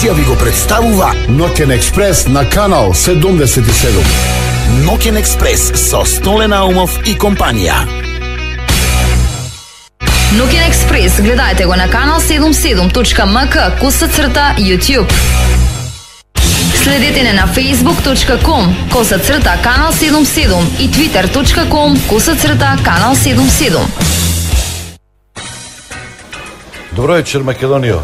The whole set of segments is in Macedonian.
емисија ви го представува Ноќен експрес на канал 77. Ноќен експрес со Столе Наумов и компанија. Ноќен експрес гледајте го на канал 77.mk/YouTube. Следете не на facebook.com/канал 77 и twitter.com/канал 77. Добро вечер, Македонија.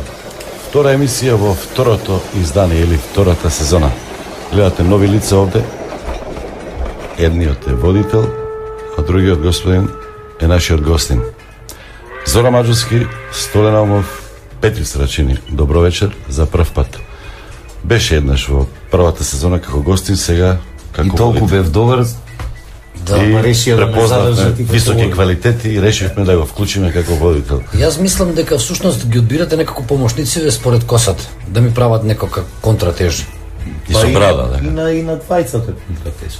Втора емисија во второто издание или втората сезона. Гледате нови лица овде. Едниот е водител, а другиот господин е нашиот гостин. Зора Маџовски, Столе Наумов, Петри Срачини. Добро вечер за прв пат. Беше еднаш во првата сезона како гостин, сега како и толку бев добар да ме решија да ме задржат високи квалитети и решивме да го вклучиме како водител. Јас мислам дека всушност ги одбирате некако помошници според косата, да ми прават некоја контратежа. И со брада, да. И на двајцата контратежа.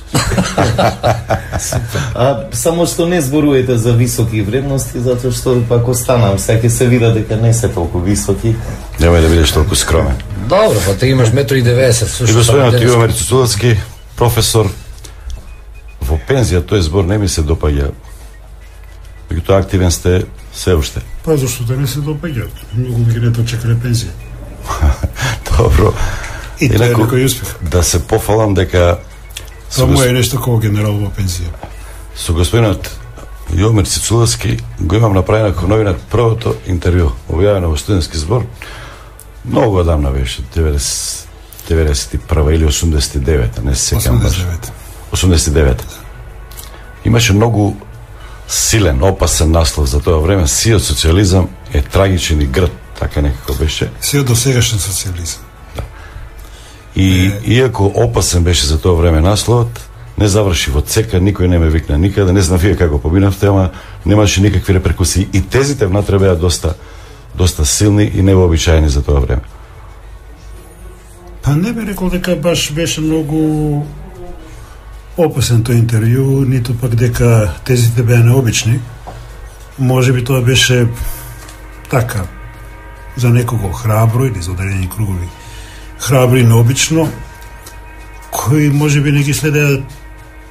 Само што не зборувате за високи вредности, затоа што пак останам, сега ќе се види дека не се толку високи. Немај да бидеш толку скромен. Добро, па ти имаш 1,90 м. И господинот Јовмир Цуцуловски, професор, во пензија, тој збор не ми се допаѓа. Меѓутоа активен сте се уште. Па зашто да не се допаѓаат? Многу ги не чекале пензија. Добро. И тоа е некој успех. Да се пофалам дека Само е нешто како генерал во пензија. Со господинот Јовмир Цуцуловски го имам направено како новинар првото интервју, објавено во студентски збор. Многу одамна беше, 91 или 89, не се сеќавам баш. 89. Имаше многу силен, опасен наслов за тоа време. Сиот социализам е трагичен и грд, така некако беше. Сиот досегашен социализам. Да. И иако опасен беше за тоа време насловот, не заврши во цека, никој не ме викна никаде, не знам вие како побинавте, ама немаше никакви реперкусии. И тезите внатре беа доста силни и невообичаени за тоа време. Па не би рекол дека баш беше многу опасен тој интервју, ниту пак дека тезите беа необични. Може би тоа беше така, за некого храбро или за одредени кругови храбро и необично, кои може би не ги следеа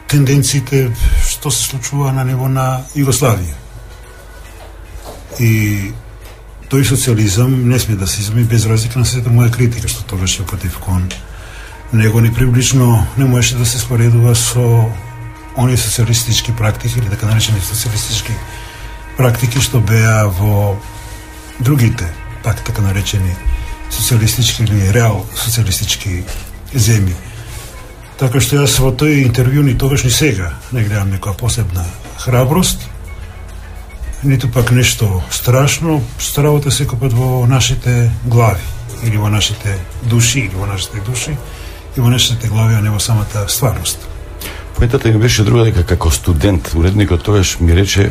тенденциите што се случува на ниво на Југославија. И тој социализам не сме да се изми без разлика на сета моја критика, што тогаш е против кон него ни приближно не можеше да се споредува со оние социалистички практики или така наречени социалистички практики што беа во другите, пак така наречени социалистички или реал социалистички земји. Така што јас во тој интервју ни тогаш ни сега не гледам некоја посебна храброст, ниту пак нешто страшно, старавате секој пат во нашите глави или во нашите души или во нашите души и во нашите глави, а не во самата стварност. Поентата ми беше друга, дека како студент, уредникот тогаш ми рече,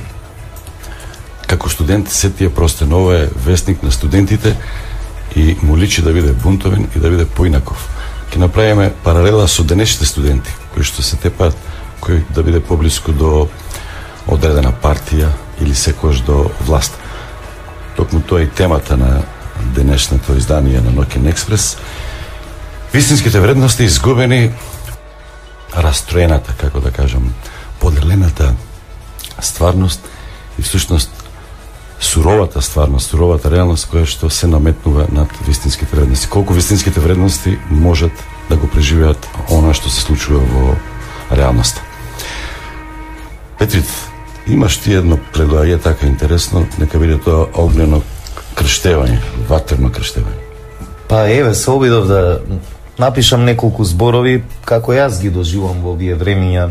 како студент се тие простен, ова е вестник на студентите и му личи да биде бунтовен и да биде поинаков. Ке направиме паралела со денешните студенти, кои што се тепаат, кој да биде поблиску до одредена партија или секојаш до власт. Токму тоа е темата на денешното издание на Ноќен експрес. Вистинските вредности изгубени, растроената, како да кажам, поделената стварност и всушност суровата стварност, суровата реалност која што се наметнува над вистинските вредности. Колку вистинските вредности можат да го преживеат она што се случува во реалноста. Петрит, имаш ти едно пледоаје така интересно, нека биде тоа огнено крштевање, ватерно крштевање. Па еве, се обидов да напишам неколку зборови како јас ги доживам во овие времиња,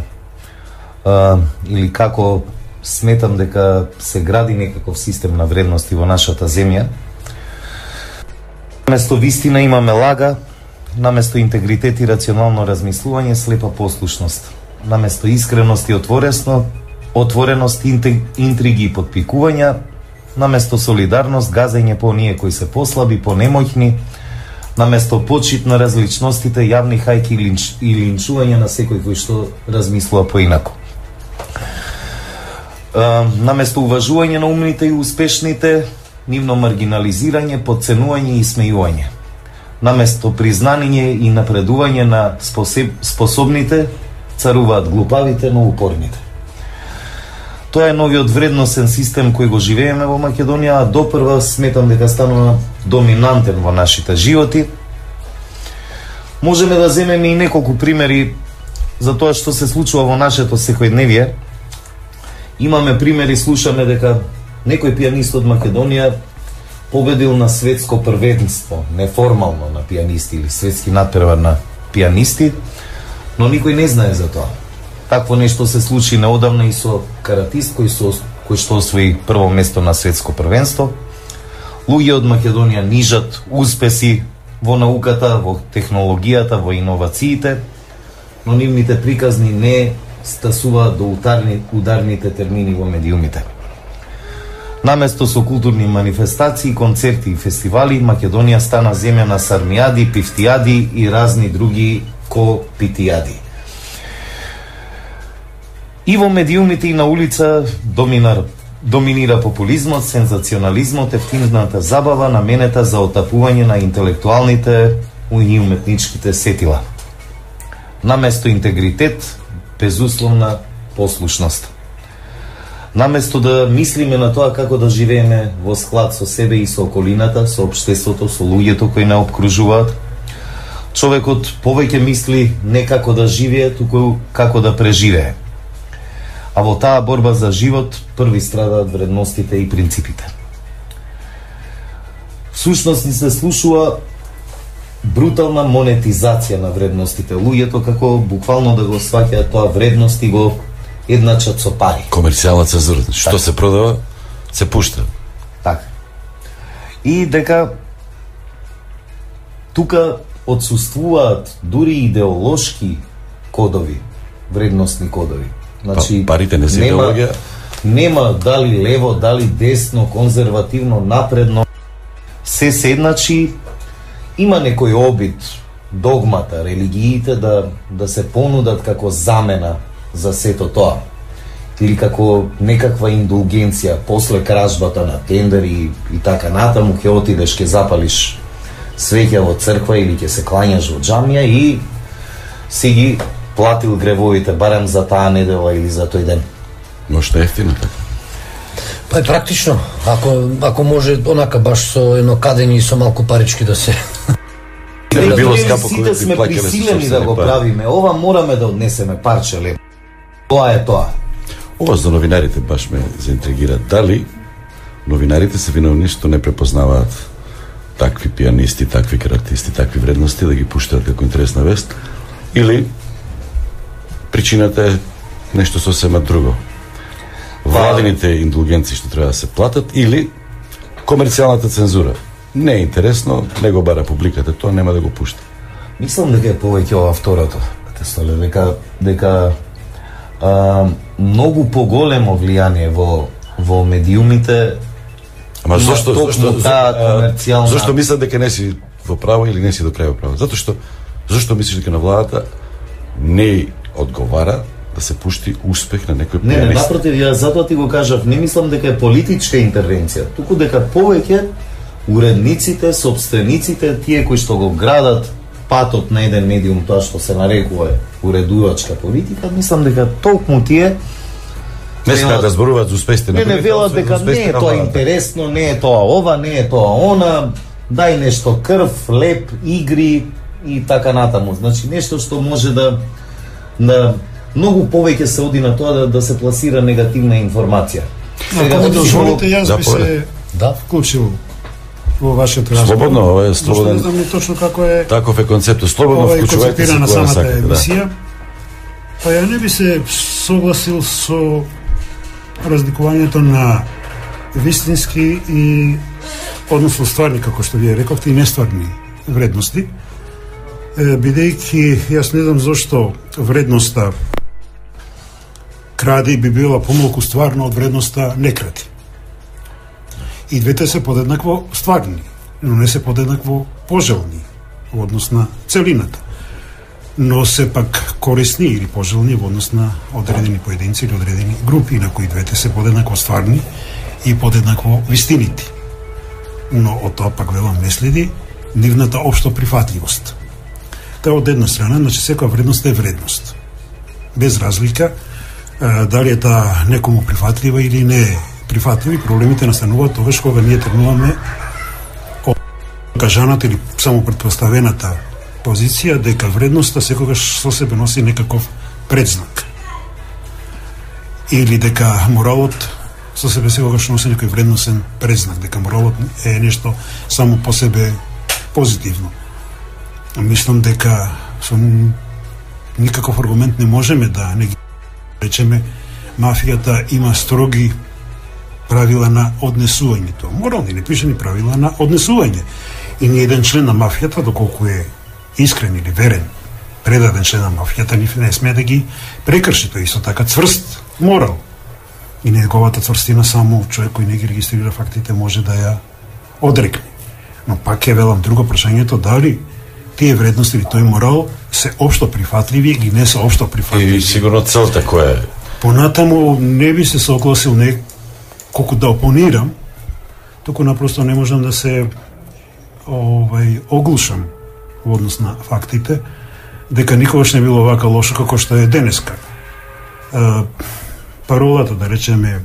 или како сметам дека се гради некаков систем на вредности во нашата земја. Наместо вистина имаме лага, наместо интегритет и рационално размислување слепа послушност, наместо искреност и отвореност, интриги и подпикувања, наместо солидарност, газење по оние кои се послаби, понемоќни, наместо почит на различностите, јавни хајки и линчување на секој кој што размислува поинако. Наместо уважување на умните и успешните, нивно маргинализирање, подценување и смејување. наместо признање и напредување на способните, царуваат глупавите, но упорните. Тоа е новиот вредносен систем кој го живееме во Македонија, а допрва сметам дека станува доминантен во нашите животи. Можеме да земеме и неколку примери за тоа што се случува во нашето секојдневие. Имаме примери, слушаме дека некој пианист од Македонија победил на светско првенство, неформално на пианисти или светски надпревар на пианисти, но никој не знае за тоа. Такво нешто се случи неодамна и со каратист кој што освои прво место на светско првенство. Луѓе од Македонија нижат успеси во науката, во технологијата, во иновациите, но нивните приказни не стасуваат до ударните термини во медиумите. Наместо со културни манифестации, концерти и фестивали, Македонија стана земја на сармијади, пифтијади и разни други копитијади. И во медиумите и на улица доминира популизмот, сензационализмот, ефтината забава, наменета за отапување на интелектуалните и уметничките сетила. Наместо интегритет, безусловна послушност. Наместо да мислиме на тоа како да живееме во склад со себе и со околината, со општеството, со луѓето кои не обкружуваат, човекот повеќе мисли не како да живее, туку како да преживее. А во таа борба за живот први страдаат вредностите и принципите. Всушност ни се слушува брутална монетизација на вредностите. Луѓето како буквално да го сваќаат тоа вредности го едначат со пари. Комерцијална цензура. Што се продава, се пушта. Така. И дека тука отсуствуваат дури идеолошки кодови, вредностни кодови. Значи, парите не се идеологија. Нема дали лево, дали десно, конзервативно, напредно. Се седначи, има некој обид, догмата, религиите да се понудат како замена за сето тоа. Или како некаква индулгенција после кражбата на тендери и така натаму, ќе отидеш, ќе запалиш свеќа во црква или ќе се клањаш во џамија и си ги платил гревовите барем за таа недела или за тој ден. Ношто ефтино така. Па е практично, ако може онака баш со едно кадење и со малку парички да се било скапо сите сме присилени да го правиме. Ова мораме да однесеме парче леп. Тоа е тоа. Ова за новинарите баш ме заинтригира. Дали новинарите се виновни што не препознаваат такви пианисти, такви каратисти, такви вредности да ги пуштаат како интересна вест, или причината е нешто сосема друго? Владините индулгенции што треба да се платат или комерцијалната цензура? Не е интересно, не го бара публиката, тоа нема да го пушта. Мислам дека е повеќе ова второто. Дека многу поголемо влијание во медиумите. Ама зошто комерцијална... мислам дека не си во право или не си до крај во право? Зошто мислиш дека на владата не одговара да се пушти успех на некој пианист? Не, напротив, ја затоа ти го кажав, не мислам дека е политичка интервенција, туку дека повеќе уредниците, собствениците, тие кои што го градат патот на еден медиум, тоа што се нарекува уредувачка политика, мислам дека толкму тие не смеат да зборуваат за успесите на не велат дека не е тоа интересно, не е тоа ова, не е тоа она, дај нешто крв, леп, игри и така натаму. Значи нешто што може да многу повеќе се оди на тоа да се пласира негативна информација. Ако ми дозволите, јас би се вклучил во вашиот разговор. Слободно, ова е слободен. Не знам точно како е. Таков е концептот. Слободно вклучувајте се на кога самата сакате. емисија. Па ја не би се согласил со разликувањето на вистински и односно стварни, како што вие рековте, и нестварни вредности. Бидејќи јас не знам зошто вредноста кради би била помалку стварна од вредноста не кради. И двете се подеднакво стварни, но не се подеднакво пожелни во однос на целината. Но се пак корисни или пожелни во однос на одредени поединци или одредени групи, на кои двете се подеднакво стварни и подеднакво вистинити. Но од тоа пак велам не следи нивната општо прифатливост. Тоа од една страна, значи секоја вредност е вредност. Без разлика дали е таа некому прифатлива или не е прифатливи, проблемите настануваат тогаш кога ние тргнуваме кажаната или само предпоставената позиција дека вредноста секогаш со себе носи некаков предзнак. Или дека моралот со себе секогаш носи некој вредносен предзнак, дека моралот е нешто само по себе позитивно. Мислам дека со никаков аргумент не можеме да не ги речеме мафијата има строги правила на однесувањето. Морални непишани правила на однесување. И ни еден член на мафијата, доколку е искрен или верен, предаден член на мафијата, не смее да ги прекрши. Тој исто така цврст морал. И неговата цврстина само човек кој не ги регистрира фактите може да ја одрекне. Но пак е велам друго прашањето дали тие вредности или тој морал се општо прифатливи или не се општо прифатливи. И сигурно целта која е? Понатаму не би се согласил не колку да опонирам, туку напросто не можам да се оглушам во однос на фактите, дека никогаш не било вака лошо како што е денеска. Паролата, да речеме,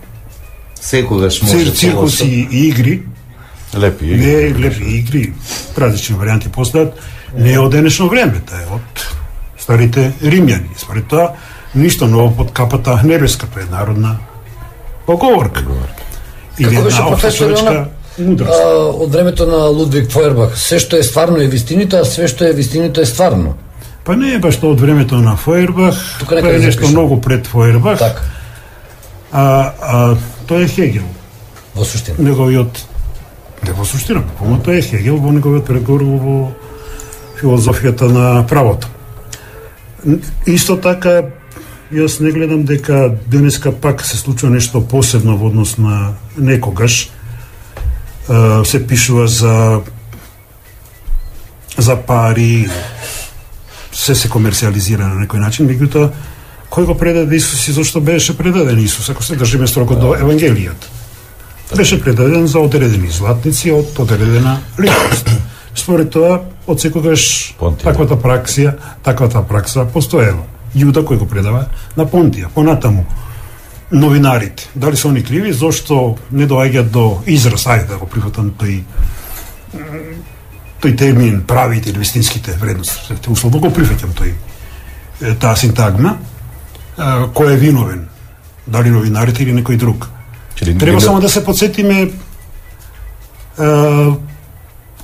секогаш може циркуси и игри, лепи игри, не лепи игри, различни варианти постојат, не е од денешно време, таа е од старите римјани. Според тоа, ништо ново под капата небеска, тоа е народна поговорка. Или една општа човечка мудрост. Од времето на Лудвиг Фойербах, се што е стварно е вистинито, а све што е вистинито е стварно. Па не е баш тоа од времето на Фойербах, тоа е нешто многу пред Фойербах. Так. Тоа е Хегел. Во суштина. Неговиот, не во суштина, тоа е Хегел во неговиот преговор во филозофијата на правото. Исто така, јас не гледам дека денеска пак се случува нешто посебно во однос на некогаш. Се пишува за пари, се комерциализира на некој начин, меѓутоа кој го предаде Исус и зашто беше предаден Исус, ако се држиме строго до Евангелијата? Беше предаден за одредени златници од одредена личност. Според тоа, од секогаш таквата пракса постоела. Јуда кој го предава на Понтија. Понатаму, новинарите, дали се они криви, зашто не доаѓаат до израз, ајде да го прифатам тој термин правите или вистинските вредности. Условно го прифаќам таа синтагма, кој е виновен, дали новинарите или некој друг. Треба само да се подсетиме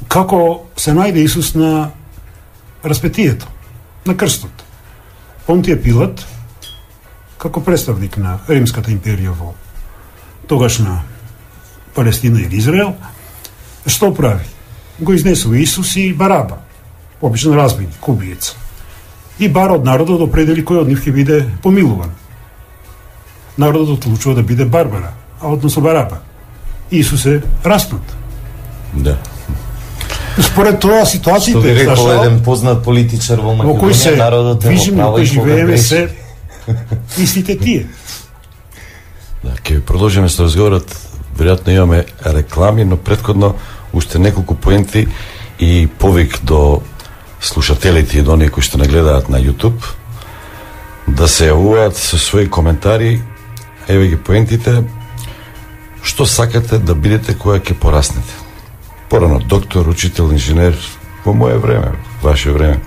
како се најде Исус на распетието, на крстот. Понтија Пилат, како представник на Римската империја во тогашна Палестина или Израел, што прави? Го изнесува Исус и Бараба, обичен разбойник, убиец. И бара од народот да определи кој од нив ќе биде помилуван. Народот одлучува да биде Барбара, а односно Бараба. Исус е распнат. Да. Според тоа ситуациите, што би рекол еден познат политичар во Македонија, народот е во право и кога греши. Истите тие. Да, ќе продолжиме со разговорот. Веројатно имаме реклами, но претходно уште неколку поенти и повик до слушателите и до оние кои што не гледаат на YouTube да се јавуваат со своји коментари. Еве ги поентите. Што сакате да бидете кога ќе пораснете? Порано доктор, учител, инженер, во мое време, ваше време,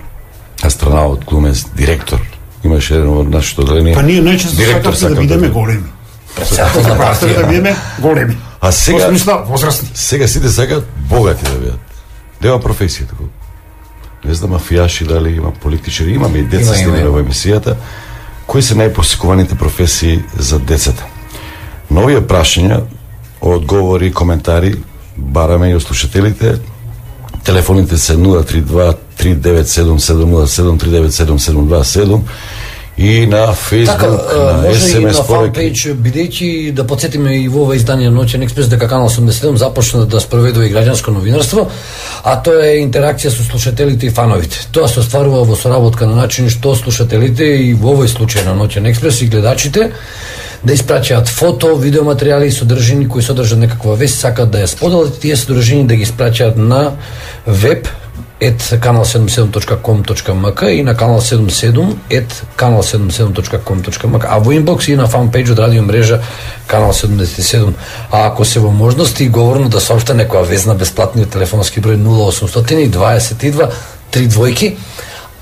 астронавт, глумец, директор. Имаше еден од нашето одделение. Па ние најчесто сакаме да бидеме големи. Да бидеме големи. А сега возрастни. Сега сите сакаат богати да бидат. Нема професија тако. Не знам мафијаши дали има политичари, имаме и деца следиме во емисијата. Кои се најпосекуваните професии за децата? На овие прашања, одговори и коментари бараме и од слушателите. Телефоните се 032 397 707 397 727 и на Facebook, на може SMS и на фанпейдж, бидејќи да подсетиме и во ова издание Ноќен експрес дека Канал 87 започна да спроведува и граѓанско новинарство, а тоа е интеракција со слушателите и фановите. Тоа се остварува во соработка на начин што слушателите и во овој случај на Ноќен експрес и гледачите да испраќаат фото, видеоматеријали и содржини кои содржат некаква вест, сакаат да ја споделат, тие содржини да ги испраќаат на веб kanal77.com.mk и на kanal77@kanal77.com.mk, а во инбокс и на фанпејџ од радио мрежа Канал 77. А ако се во можности, говорно да соопшта некоја везна бесплатниот телефонски број 0800 22 3 двојки.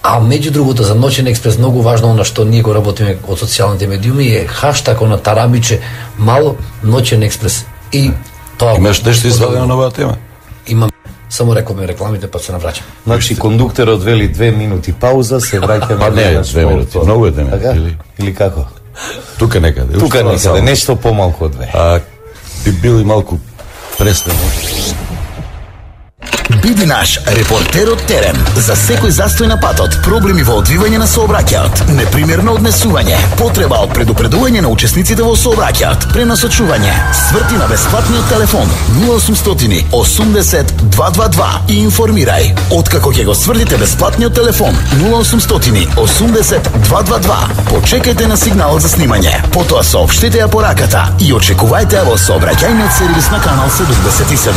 А меѓу другото за Ноќен експрес многу важно она што ние го работиме од социјалните медиуми е хаштаг на тарабиче мало Ноќен експрес. И тоа имаш нешто извадено на оваа тема? Имам. Само рековме рекламите, па се навраќам. Значи, кондуктерот вели 2 минути пауза, се враќаме. А не, 2 минути, многу е 2 минути. Или како? Тука некаде. Тука некаде, нешто помалку од 2. А би бил и малку преснено. Биди наш репортер од терен за секој застој на патот, проблеми во одвивање на сообраќајот, непримерно однесување, потреба од предупредување на учесниците во сообраќајот, пренасочување, сврти на бесплатниот телефон 0800 80 222 и информирај. Откако ќе го свртите бесплатниот телефон 0800 80 222, почекајте на сигналот за снимање, потоа соопштите ја пораката и очекувајте ја во сообраќајниот сервис на Канал 77.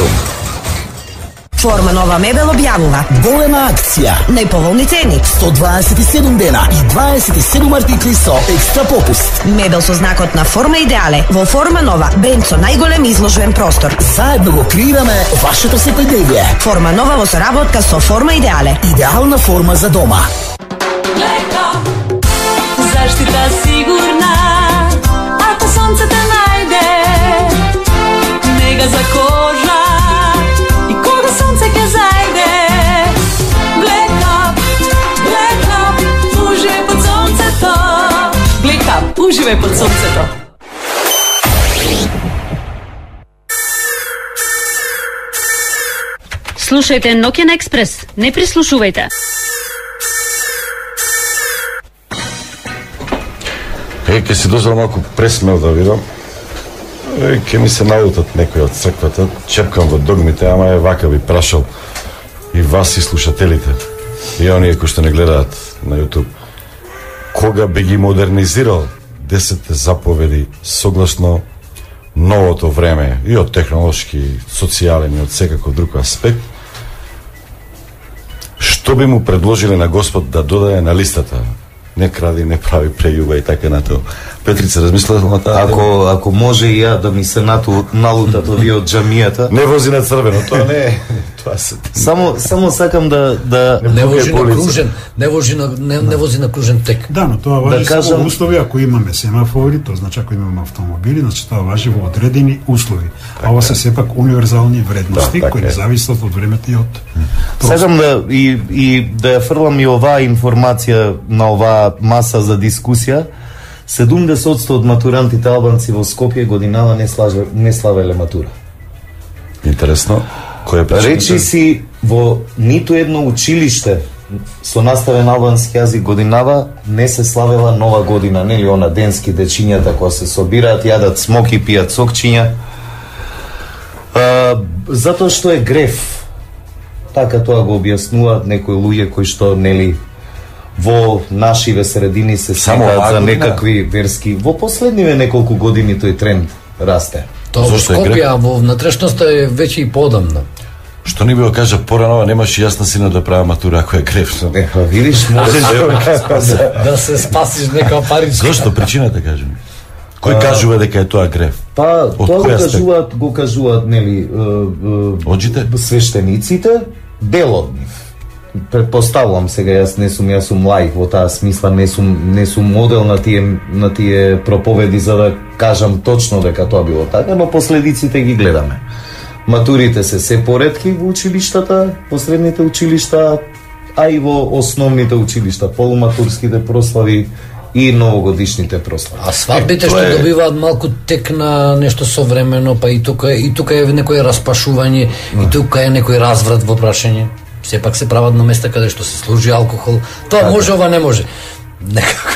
Форма Нова Мебел објавува Голема акција, најповолни цени, 127 дена и 27 артикли со екстра попуст. мебел со знакот на Форма Идеале во Форма Нова, бренд со најголем изложбен простор. Заедно го креираме вашето секојдневие. Форма Нова во соработка со Форма Идеале. Идеална форма за дома. Леко, заштита сигурна, ако сонце те најде, нега за кожа и кога сонце ќе зајде. Black Up, уживај под сонцето. Black Up, уживај под сонцето. Слушајте Ноќен експрес, не прислушувајте. Ке си дозвол малку пресмел да видам. Ке ми се налутат некои од црквата, чепкам во догмите, ама е вака би прашал и вас и слушателите, и оние кои што не гледаат на YouTube. Кога би ги модернизирал 10 заповеди согласно новото време, и од технолошки, социјален и од секаков друг аспект, што би му предложиле на Господ да додаде на листата? Не кради, не прави прејуба и така натаму. Петрица, размислила на таа? Ако може и ја да ми се налутат овие од джамијата. Не вози на црвено, тоа не е. Тоа се. Само сакам да не вози на кружен, не вози на кружен тек. Да, но тоа важи кажам... само услови ако имаме семафори, тоа значи ако имаме автомобили, значи тоа важи во одредени услови. А ова се сепак универзални вредности кои не зависат од времето и од Сакам да ја фрлам и оваа информација на оваа маса за дискусија. 70% од матурантите албанци во Скопје годинава не славеле матура. Интересно. Кој е причината? Речи си во ниту едно училиште со наставен албански јазик годинава не се славела нова година, нели она денски дечињата кога се собираат, јадат смоки, пијат сокчиња. Затоа што е греф. Така тоа го објаснуваат некои луѓе кои што нели во нашиве средини се сметаат за некакви верски. Во последниве неколку години тој тренд расте. Тоа во Скопје, во внатрешноста е веќе и подамна. Што не би го кажа порано, немаше јасна сина да прави матура ако е греф. Видиш, можеш да се спасиш нека паричка. Зошто причината кажи ми? Кој кажува дека е тоа греф? Па, тоа го кажуваат нели свештениците, дел од нив. Предпоставувам сега, јас сум лаик во таа смисла, не сум модел на тие проповеди за да кажам точно дека тоа било така, но последиците ги гледаме. Матурите се поретки во училиштата, посредните училишта, а и во основните училишта, полуматурските прослави и новогодишните прослави. А свадбите што добиваат малку тек на нешто современо, па и тука е некој распашување, и тука е некој разврат во прашање. Сепак се прават на места каде што се служи алкохол. Тоа може, ова не може. Некако.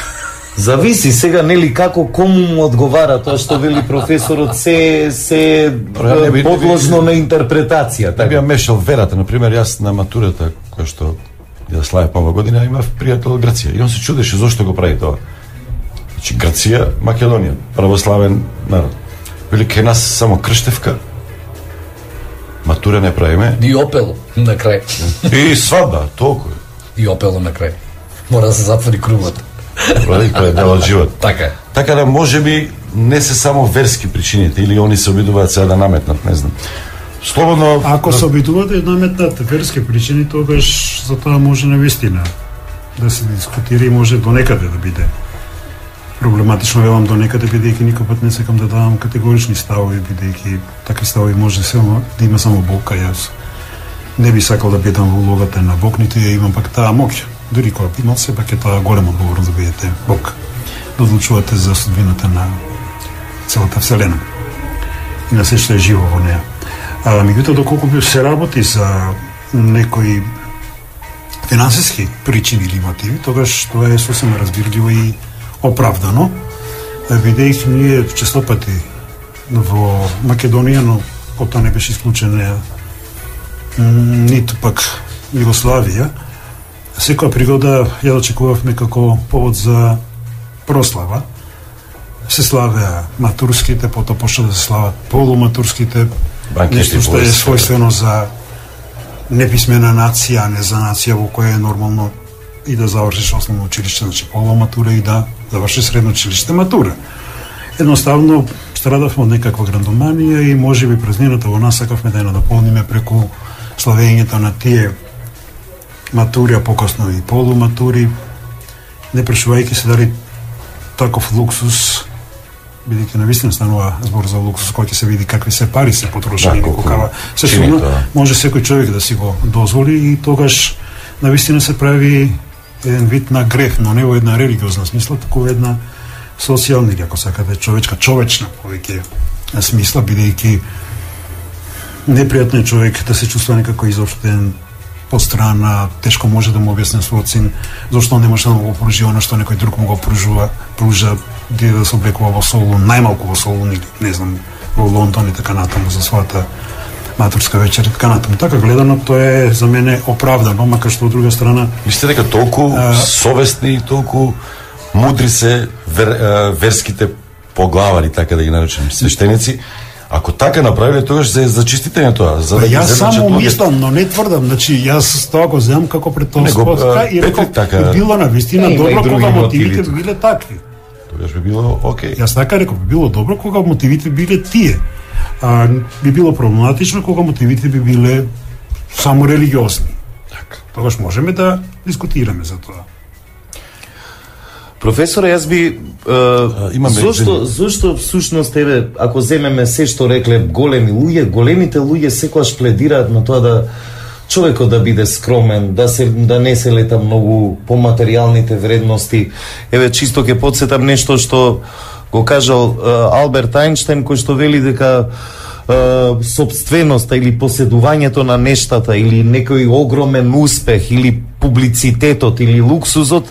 Зависи сега нели како кому му одговара тоа што вели професорот се подложно на интерпретација. Така би мешал верата, на пример јас на матурата која што ја славев нова година имав пријател од Грција и он се чудеше зошто го прави тоа. Значи Грција, Македонија, православен народ. Вели кај нас само крштевка матура не правиме. И опел на крај. И свадба, толку. И опело на крај. Мора да се затвори кругот. Тоа е дел од живот. Така е. Така да можеби не се само верски причините или они се обидуваат сега да наметнат, не знам. Слободно. Ако се обидуваат да наметнат верски причини, тогаш за тоа може навистина да се дискутира и може до некаде да биде проблематично, велам до некаде, бидејќи никој пат не сакам да давам категорични ставови, бидејќи такви ставови може само да има само Бог, а јас не би сакал да бидам во улогата на Бог, ниту ја имам пак таа моќ. Дури кога би имал, сепак е тоа голема одговорност да бидете Бог, да одлучувате за судбината на целата Вселена и на се што е живо во неа. Меѓутоа, доколку би се работи за некои финансиски причини или мотиви, тогаш тоа е сосема разбирливо и оправдано, бидејќи ние честопати во Македонија, но потоа не беше исклучена ниту пак Југославија, секоја пригода ја очекувавме како повод за прослава. Се славеа матурските, потоа почна да се слават полуматурските, нешто што е својствено за неписмена нација, а не за нација во која е нормално и да завршиш основно училиште, значи полуматура и да завршиш средно училиште матура. Едноставно страдавме од некаква грандоманија и можеби празнината во нас сакавме да ја надополниме преку славењето на тие матури, а покасно и полуматури, не прашувајќи се дали таков луксус, бидејќи навистина станува збор за луксус кој ќе се види какви се пари се потрошени, каква се сума, може секој човек да си го дозволи и тогаш навистина се прави еден вид на грех, но не во една религиозна смисла, туку во една социјална или ако сакате човечна повеќе смисла, бидејќи непријатно е човек да се чувствува некако изоштен, пострана, тешко може да му објасне својот син зашто не може да му го пружи она што некој друг му го пружа да се облекува во Солун, најмалку во Солун или не знам во Лондон и така натаму за својата матурска вечер и така натаму. Така гледано тоа е за мене оправдано, макар што од друга страна мислите дека толку совесни и толку мудри се верските поглавари, така да ги наречем, свештеници. Ако така направиле, тогаш за чистите тоа, за да јас само мислам, но не тврдам, значи јас тоа го земам како претпоставка и реков би било навистина добро кога мотивите биле такви. Тогаш би било окей. Јас така реков, би било добро кога мотивите биле тие. Би било проблематично кога мотивите би биле само религиозни. Така. Тогаш можеме да дискутираме за тоа. Професоре, јас би зошто всушност еве ако земеме се што рекле големите луѓе секогаш пледираат на тоа да човекот да биде скромен, да не се лета многу по материјалните вредности. Еве чисто ќе потсетам нешто што го кажал Алберт Ајнштајн, кој што вели дека собственоста или поседувањето на нештата или некој огромен успех или публицитетот или луксузот,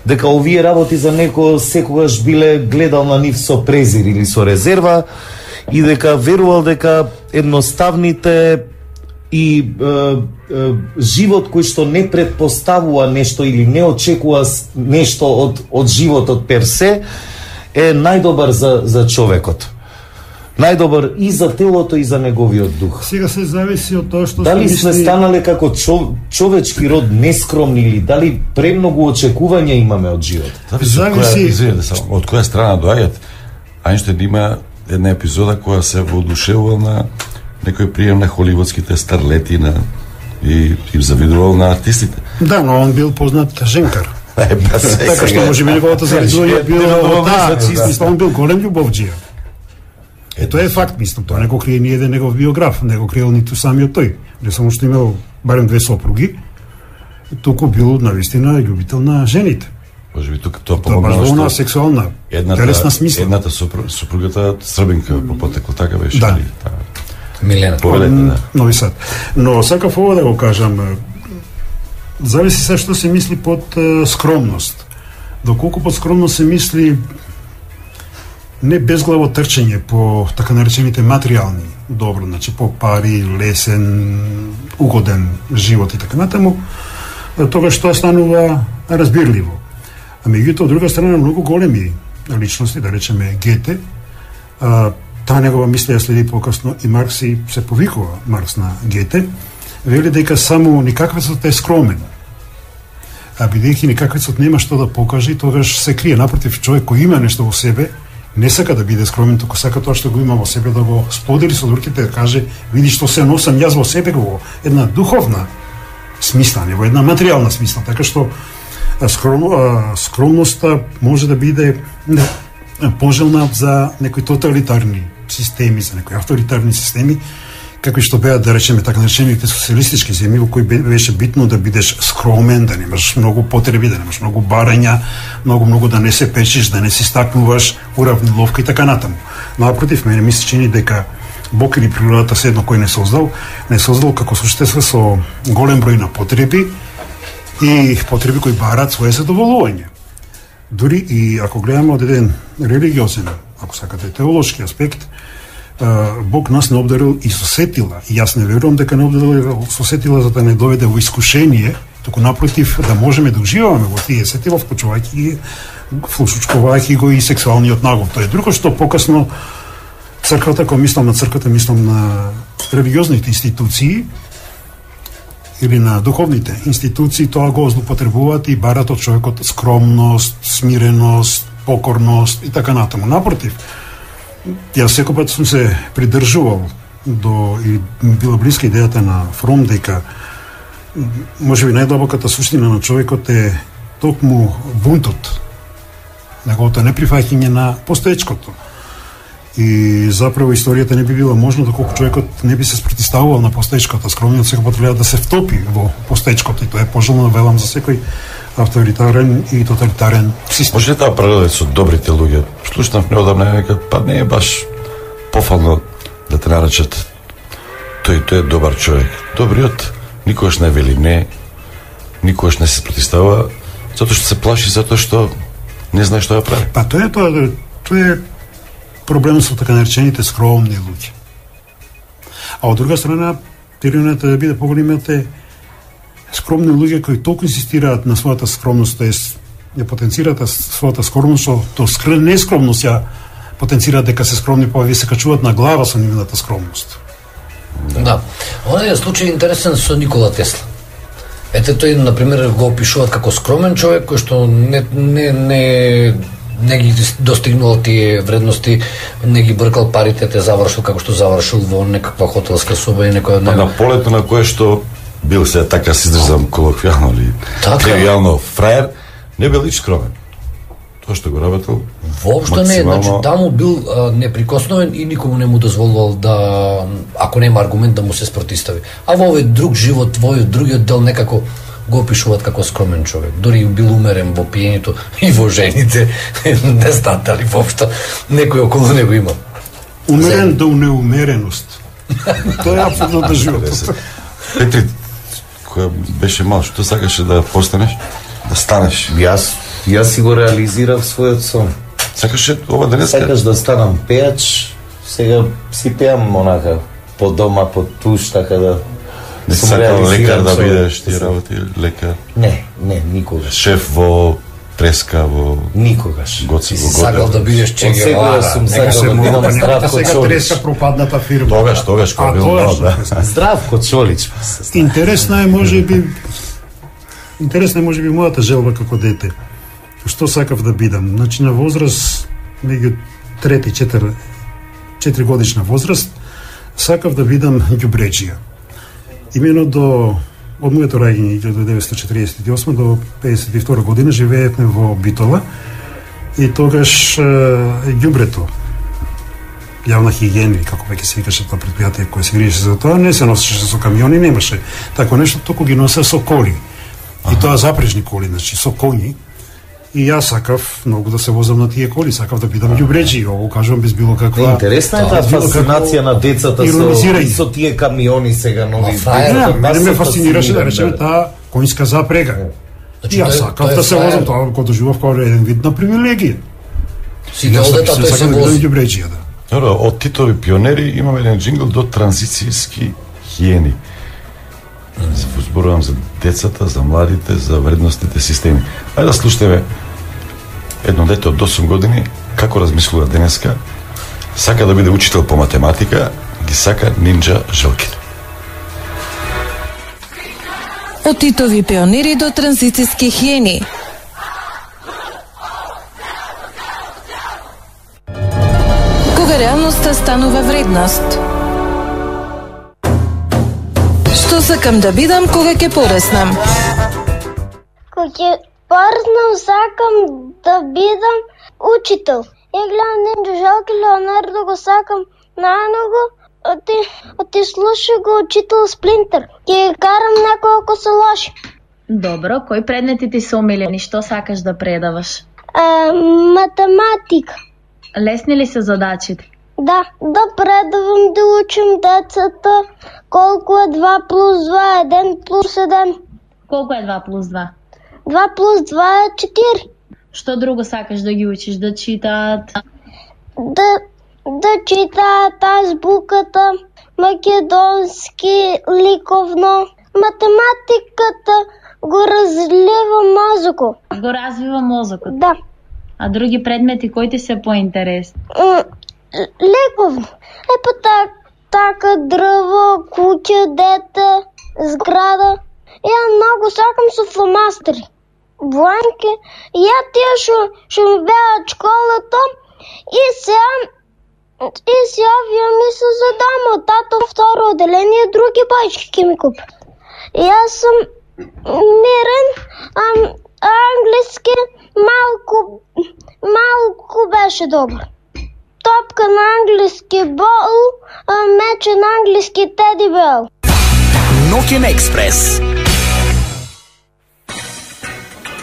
дека овие работи за некој секогаш биле гледал на нив со презир или со резерва и дека верувал дека едноставните и живот кој што не предпоставува нешто или не очекува нешто од животот персе е најдобар за човекот. Најдобар и за телото и за неговиот дух. Сега се зависи од тоа што дали сме станале како човечки род нескромни или дали премногу очекувања имаме од живот. Зависи од која страна доаѓат. Ајнштајн има една епизода која се воодушевувал на некој прием на холивудските старлети и им завидувал на артистите. Да, но он бил познат женкар. Така што може би неговото завидување било он бил голем љубовџија. Тоа е факт, мислам, тоа не го крие ни еден негов биограф, не го криел ниту самиот тој. Не само што имал барем 2 сопруги, туку бил навистина љубител на жените. Може би тука тоа помогнало што сексуална, телесна смисла. Едната сопругата Србинка по потекло, така беше. Да. Милена. Нови Сад. Но сакав ова да го кажам, зависи се што се мисли под скромност. Доколку под скромност се мисли не безглаво трчење по така наречените материјални добро, значи по пари, лесен, угоден живот и така натаму, тогаш тоа станува разбирливо. А меѓутоа, од друга страна, многу големи личности, да речеме Гете, таа негова мисла ја следи покасно и Маркс и се повикува Маркс на Гете, вели дека само никаквецот е скромен. А бидејќи никаквецот нема што да покаже, тогаш се крие. Напротив, човек кој има нешто во себе, не сака да биде скромен, туку сака тоа што го има во себе да го сподели со другите, да каже, види што се носам јас во себе, во една духовна смисла, не во една материјална смисла. Така што скромноста може да биде пожелна за некои тоталитарни системи, за некои авторитарни системи, какви што беа, да речеме, така наречените социјалистички земји, во кои беше битно да бидеш скромен, да немаш многу потреби, да немаш многу барања, многу да не се печиш, да не се стакнуваш, уравниловка и така натаму. Напротив, мене ми се чини дека Бог или природата седно кој не создал како суштество со голем број на потреби и потреби кои бараат свое задоволување. Дури и ако гледаме од еден религиозен, ако сакате теолошки аспект, Бог нас не обдарил и со сетила. И јас не верувам дека не обдарил со сетила за да не доведе во искушение, туку напротив да можеме да уживаме во тие сетила, вклучувајќи го и сексуалниот нагон. Тоа е друго што покасно црквата, кога мислам на црквата, мислам на религиозните институции или на духовните институции, тоа го злоупотребуваат и барат од човекот скромност, смиреност, покорност и така натаму. Напротив, јас секој пат сум се придржувал до и била блиска идејата на Фром дека можеби најдлабоката суштина на човекот е токму бунтот, неговото неприфаќање на постоечкото. И заправо историјата не би била можна доколку човекот не би се спротивставувал на постоечкото. Скромниот секој пат треба да се втопи во постоечкото и тоа е пожелно, велам, за секој авторитарен и тоталитарен систем. Може таа паралел со добрите луѓе? Слушнав неодамна дека па не е баш пофално да те наречат тој е добар човек. Добриот никогаш не вели не, никогаш не се спротивстава, затоа што се плаши, затоа што не знае што да прави. Па тоа е проблемот со така наречените скромни луѓе. А од друга страна, тиранията да биде поголемиот е скромни луѓе кои толку инсистираат на својата скромност, тоест ја потенцираат својата скромност, што нескромност ја потенцираат дека се скромни, па ви се качуваат на глава со нивната скромност. Да. Онај случај интересен со Никола Тесла. Ете, тој, например, го опишуваат како скромен човек кој што не ги достигнал тие вредности, не ги бркал парите, те завршил како што завршил во некаква хотелска соба и некоја... На полето на кое што бил се, така се изразам колоквијално или тривијално, фраер, не бил и скромен. Тоа што го работел воопшто не, значи таму бил неприкосновен и никому не му дозволувал да, ако нема аргумент, да му се спротистави. А во овој друг живот, во другиот дел некако го опишуваат како скромен човек. Дори бил умерен во пиењето и во жените. Не знаат дали воопшто некој околу него има. Умерен до неумереност. Тоа е апсолутно да животот. Петри, која беше мал, што сакаше да постанеш? Да станеш? Јас си го реализирав својот сон. Сакаше ова денеска? Сакаш да станам пејач, сега си пеам онака по дома, по туш, така да... Не си сакал лекар да бидеш, ти работи лекар? Не, никогаш. Шеф во преска, во... Никогаш. Гоци во Сакал да бидеш Че Гевара. Сум сакал да бидам Здравко Сега Чолич. треска пропадната фирма. Тогаш кога бил мал, да. Здравко Чолич. Интересна е можеби мојата желба како дете. Што сакав да бидам? Значи на возраст, меѓу 3-4 годишна возраст, сакав да бидам ѓубреџија. Имено од моето раѓање 1948 до 52 година живеевме во Битола и тогаш ѓубрето, јавна хигиена, како веќе се викаше тоа предпријатие кое се грижеше за тоа, не се носеше со камиони, немаше тако нешто, току ги носе со коли. И тоа запрежни коли, значи со коњи. И јас сакав многу да се возам на тие коли, сакав да бидам ѓубреџи, ово кажувам без било каква... Интересна е таа фасцинација на децата со тие камиони сега нови. Мене ме фасцинираше, да речеме, таа коњска запрега. И јас сакав да се возам, тоа го доживав како еден вид на привилегија. Сакав да бидам ѓубреџија, да. Добро, од Титови пионери имаме еден джингл до транзицијски хиени. Зборувам за децата, за младите, за вредностните системи. Ајде да слушнеме едно дете од 8 години како размислува денеска, Сака да биде учител по математика, ги сака нинџа Желкин. Од Титови пионери до транзицијски хиени. Кога реалноста станува вредност. Што сакам да бидам кога ќе пореснам? Кога ќе пореснам сакам да бидам учител. Ја гледам нинџа Желкин, Леонардо го сакам најмногу. Ти слуша го учител Сплинтер. Ќе карам некој ако се лоши. Добро, кои предмети ти се омилени? Што сакаш да предаваш? Математика. Лесни ли се задачите? Да предавам, да учим децата колку е 2 плюс 2, 1 плюс 1. Колку е 2 плюс 2? 2 плюс 2 е 4. Што друго сакаш да ги учиш? Да читаат? Да читаат азбуката, македонски, ликовно. Математиката го развива мозокот. Го развива мозокот? Да. А други предмети кои ти се поинтересни? Ликовно. Така дрво, куќа, дете, зграда. Ја многу сакам со фломастери. Бланки. Ја тие што ми беат школата и сега вие ми се задама. Тато второ отделение, други бајчки ќе ми купи. Јас сум мирен, англиски малку беше добар. Топка на англиски бол, мече на англиски теди бел. Ноќен експрес.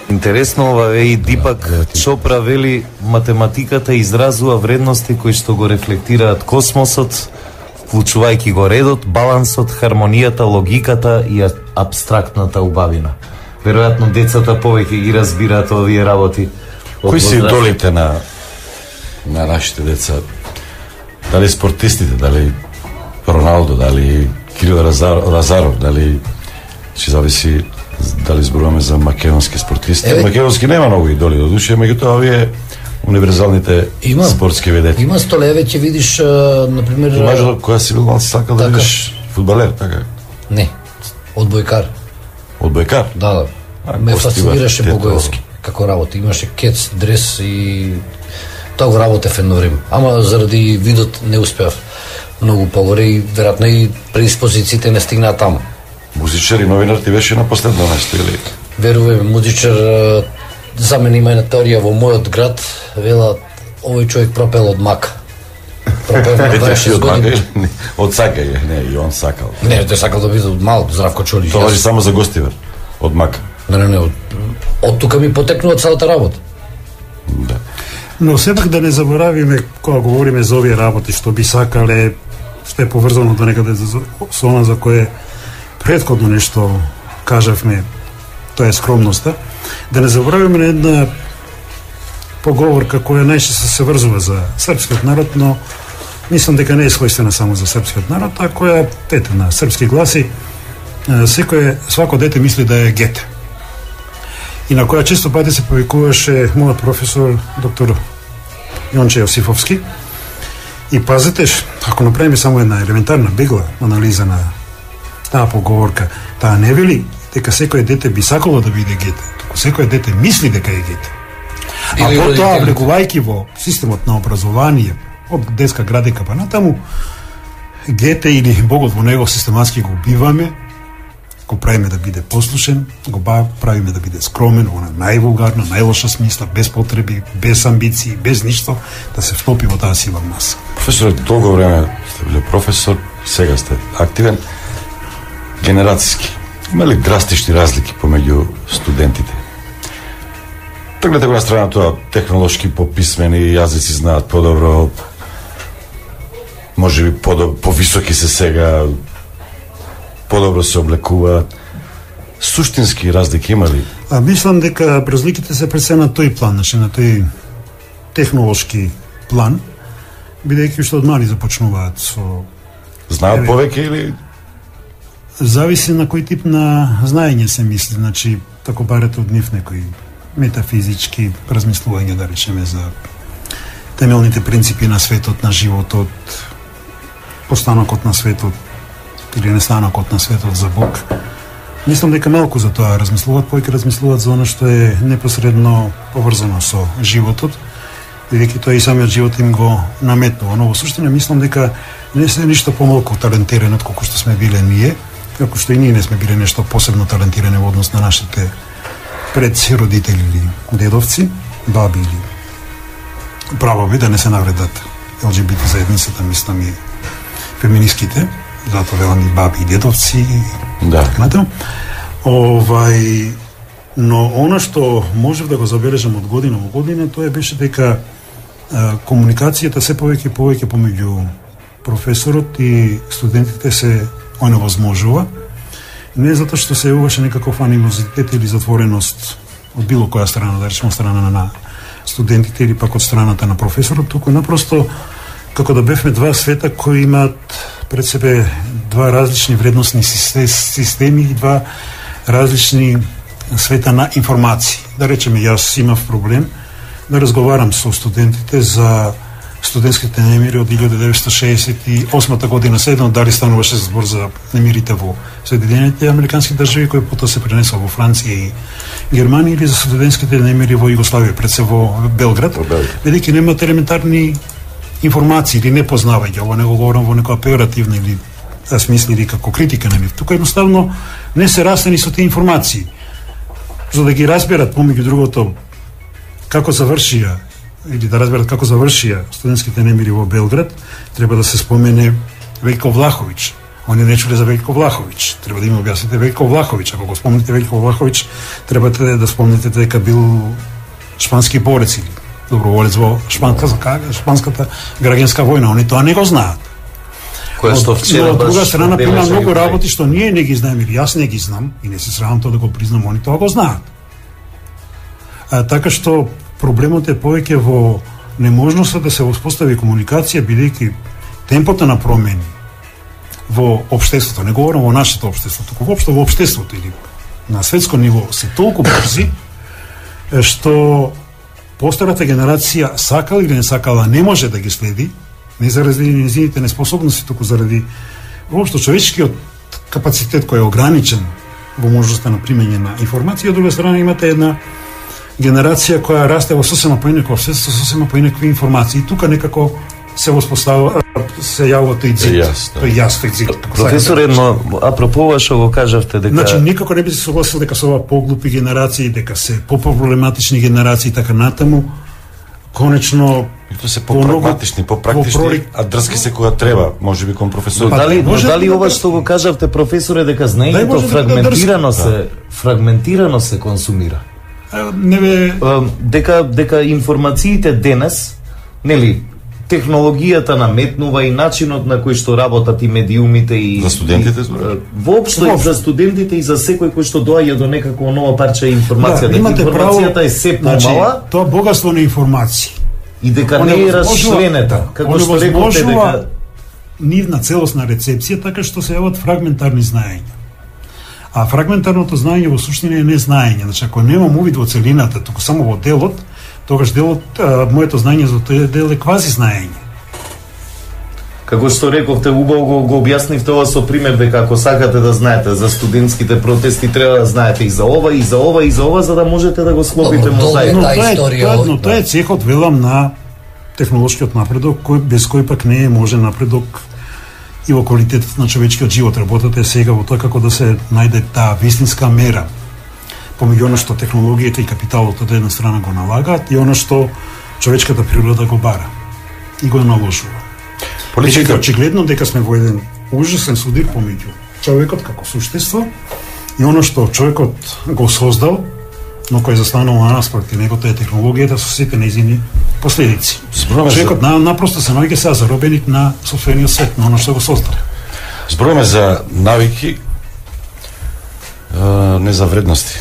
Интересно ова е и Дипак Чопра вели математиката изразува вредности кои што го рефлектираат космосот, вклучувајќи го редот, балансот, хармонијата, логиката и апстрактната убавина. Веројатно децата повеќе ги разбираат овие работи. Кои се идолите на нашите деца? Дали спортистите, дали Роналдо, дали Кирил Лазаров, дали ќе зависи дали зборуваме за македонски спортисти. Македонски нема многу идоли до душе, меѓутоа овие универзалните спортски ведети. Има столеве, ќе видиш, например... Имаш кога си бил малци сакал да видиш фудбалер, така? Не, одбојкар. Одбојкар? Да. Ме фасцинираше Богоевски како работа. Имаше кец, дрес и тоа го работев едно време. Ама заради видот не успеав многу погоре и веројатно и предиспозициите не стигнаа таму. Музичар и новинар ти беше на последно место, или? Веруваме, музичар, за мене има една теорија во мојот град, вела, овој човек пропел од мак. Пропел на 26 години. Од сакање, не, и он сакал. Не, тој сакал да биде од малку, Здравко Чолич. Тоа важи само за Гостивар, од мак. Не, од тука ми потекнува целата работа. Да. Но сепак да не заборавиме, кога говориме за овие работи, што би сакале, што е поврзано до некаде со она за кое претходно нешто кажавме, тоа е скромноста, да не заборавиме на една поговорка која најчесто се врзува за српскиот народ, но мислам дека не е својствена само за српскиот народ, а која ете на српски гласи свако дете мисли да е гете. И на која често пати се повикуваше мојот професор доктор Јонче Јосифовски. И пазете, ако направиме само една елементарна бегла анализа на таа поговорка, таа не вели дека секој дете би сакало да биде гете, туку секој дете мисли дека е гете. А потоа, влегувајќи во системот на образование, од детска градика па натаму, гете или Богот во него систематски го убиваме, го правиме да биде послушен, го правиме да биде скромен, она највулгарна, најлоша смисла, без потреби, без амбиции, без ништо, да се встопи во таа сила маса. Професор, долго време сте били професор, сега сте активен. Генерацијски, има ли драстични разлики помеѓу студентите? Тргнете го на страна тоа, технолошки пописмени, јазици знаат подобро, може би повисоки се сега, подобро се облекуваат. Суштински разлики има ли? Мислам дека разликите се пред се на тој план, значи на тој технолошки план, бидејќи што од мали започнуваат со... Знаат повеќе или... Зависи на кој тип на знаење се мисли, значи, тако барете од нив некои метафизички размислувања, да речеме, за темелните принципи на светот, на животот, постанокот на светот или нестанокот на светот за Бог. Мислам дека малку за тоа размислуваат, повеќе размислуваат за она што е непосредно поврзано со животот, бидејќи тоа и самиот живот им го наметнува. Но во суштина мислам дека не се ништо помалку талентирани од колку што сме биле ние, како што и ние не сме биле нешто посебно талентирани во однос на нашите предци, родители или дедовци, баби или правови, да не се навредат ЛГБТ заедницата, мислам и феминистките, затоа велам и баби и дедовци, да. Но она што можев да го забележам од година во година, тоа беше дека комуникацијата се повеќе и повеќе помеѓу професорот и студентите се оневозможува. Не затоа што се јавуваше некаков анимозитет или затвореност од било која страна, да речеме страна на студентите или пак од страната на професорот, туку напросто како да бевме два света кои имаат пред себе два различни вредносни системи и два различни света на информации. Да речеме, јас имав проблем да разговарам со студентите за студентските немири од 1968 година, седно дали стануваше збор за немирите во Соединените американски држави, кои потоа се пренесува во Франција и Германија, или за студентските немири во Југославија, пред се во Белград, бидејќи немат елементарни информации или непознавање. Ова не го говорам во некоја пеоративна или смисли или како критика на нив. Тука едноставно не се растени со тие информации. За да ги разберат помеѓу другото како завршија или да разберат како завршија студентските немири во Белград, треба да се спомене Вејко Влаховиќ. Они не чуле за Вејко Влаховиќ. Треба да им објасните Вејко Влаховиќ. Ако го спомнете Вејко Влаховиќ, требате да спомнете дека бил шпански борец или доброволец во шпанската граѓанска војна. Они тоа не го знаат. Која што вчера од друга страна има многу работи што ние не ги знаеме, или јас не ги знам и не се срамам тоа да го признам, они тоа го знаат. Така што проблемот е повеќе во неможноста да се воспостави комуникација, бидејќи темпото на промени во општеството, не говорам во нашето општество, туку воопшто во општеството или на светско ниво се толку брзи што постарата генерација сакала или не сакала не може да ги следи, не заради незините неспособности, туку заради воопшто човечкиот капацитет кој е ограничен во можноста на примење на информација. Од друга страна имате една генерација која расте во сосема поинакво општество, сосема поинакви информации. И тука некако се воспоставува, се јавува тој ѕид. Професоре, но апропо ова што го кажавте дека... Значи, никако не би се согласил дека се ова поглупи генерации, дека се попроблематични генерации, така натаму, конечно... И тоа се попрагматични, попрактични, а дрски се кога треба, може би кон професор. Дали ова што го кажавте, професоре, дека знаењето фрагментирано се консумира? Дека информациите денес, нели, технологијата наметнува и начинот на кој што работат и медиумите и за студентите, воопшто и за студентите и за секој кој што доаѓа до некакво ново парче информација, дека информацијата е се помала, тоа богатство на информации и дека не е расчленета, како што рековте дека нивна целосна рецепција, така што се јават фрагментарни знаења. А фрагментарното знаење во суштина е незнаење. Значи, ако немам увид во целината, туку само во делот, тогаш делот, моето знаење за тој дел е квази знаење. Како што рековте, убаво го објаснивте ова со пример дека ако сакате да знаете за студентските протести, треба да знаете и за ова, и за ова, и за ова, за да можете да го склопите мозаик. Но тоа е цехот, велам, на технолошкиот напредок, без кој пак не е можен напредок и во квалитетот на човечкиот живот. Работата е сега во тоа како да се најде таа вистинска мера помеѓу она што технологијата и капиталот од една страна го налагаат и она што човечката природа го бара и го наложува. Политика очигледно дека сме во еден ужасен судир помеѓу човекот како суштество и она што човекот го создал, но кој застанува наспроти него, тоа е технологијата со сите нејзини последици. Човекот напросто се наоѓа сега заробеник на сопствениот свет, на оно што го создал. Зборуваме за навики, не за вредности.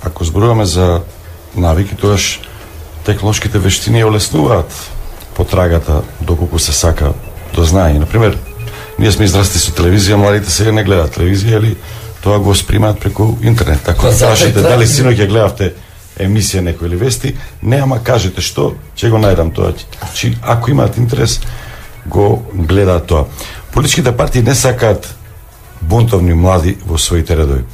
Ако зборуваме за навики, тогаш технолошките вештини ја олеснуваат потрагата доколку се сака до знаење. Например, ние сме израсти со телевизија, младите сега не гледаат телевизија или тоа го спримаат преку интернет. Така прашате дали синоќ ја гледавте емисија некој или вести, не, ама кажете што, ќе го најдам тоа. Значи, ако имаат интерес, го гледаат тоа. Политичките партии не сакаат бунтовни млади во своите редови.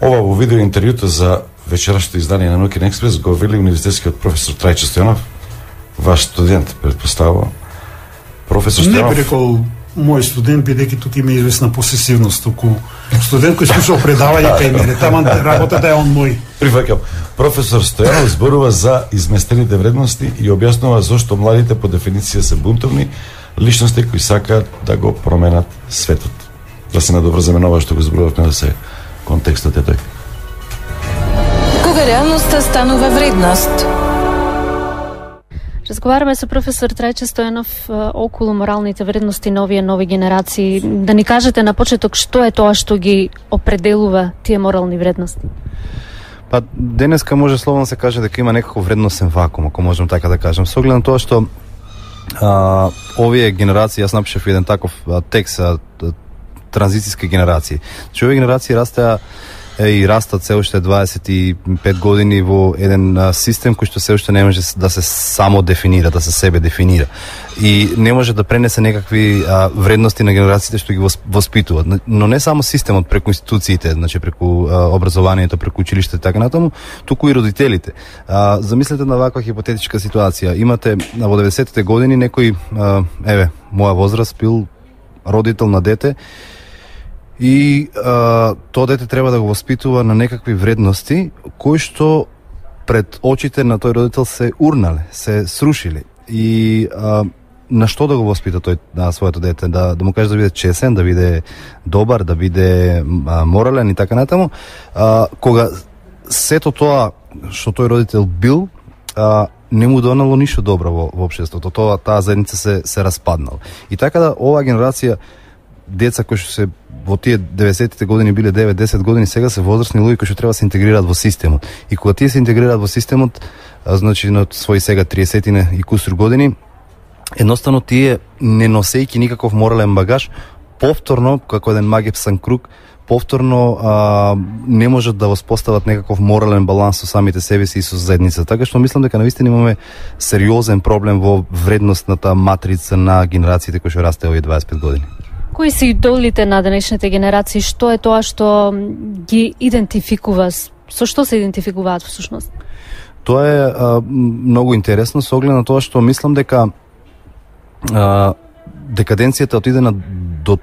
Ова во видео интервјуто за вечерашното издание на Нокен Експрес го вели универзитетскиот професор Трајче Стојанов, ваш студент, предпоставувам. Професор Стојанов... Не би рекол мој студент, бидејќи тука има известна посесивност, туку студент кој слушал предавање кај мене, таман работата е он мој. Прифаќам. Професор Стојанов зборува за изместените вредности и објаснува зошто младите по дефиниција се бунтовни личности кои сакаат да го променат светот. Да се надоврземе на ова што го зборувавме, да се контекстот е тој. Кога реалноста станува вредност? Разговараме со професор Трајче Стојанов околу моралните вредности на овие нови генерации. Да ни кажете на почеток што е тоа што ги определува тие морални вредности? Па денеска може словно се каже дека има некако вредностен вакуум, ако можам така да кажам. Со оглед на тоа што овие генерации, јас напишав еден таков текст, транзицијски генерации. Значи овие генерации и растат се уште 25 години во еден систем кој што се уште не може да се само дефинира, да се себе дефинира. И не може да пренесе некакви вредности на генерациите што ги воспитуваат. Но не само системот преку институциите, значи преку образованието, преку училиште и така натаму, туку и родителите. Замислете на ваква хипотетичка ситуација. Имате во 90-те години некој, моја возраст, бил родител на дете, и тоа дете треба да го воспитува на некакви вредности кои што пред очите на тој родител се урнале, се срушиле. И на што да го воспита тој на своето дете? Да му каже да биде чесен, да биде добар, да биде морален и така натаму. Кога сето тоа што тој родител бил, не му донело ништо добро во општеството. Таа заедница се распаднала. И така да оваа генерација деца кои што се во тие 90-тите години биле 9-10 години, сега се возрастни луѓе кои што треба да се интегрираат во системот. И кога тие се интегрираат во системот, значи на своји сега 30-тина и кусур години, едноставно тие не носејќи никаков морален багаж, повторно, како еден магепсан круг, повторно не можат да воспостават некаков морален баланс со самите себе си и со заедницата. Така што мислам дека навистина имаме сериозен проблем во вредностната матрица на генерациите кои што расте овие 25 години. Кои се идолите на денешните генерации? Што е тоа што ги идентификува? Со што се идентификуваат всушност? Тоа е многу интересно со оглед на тоа што мислам дека декаденцијата отиде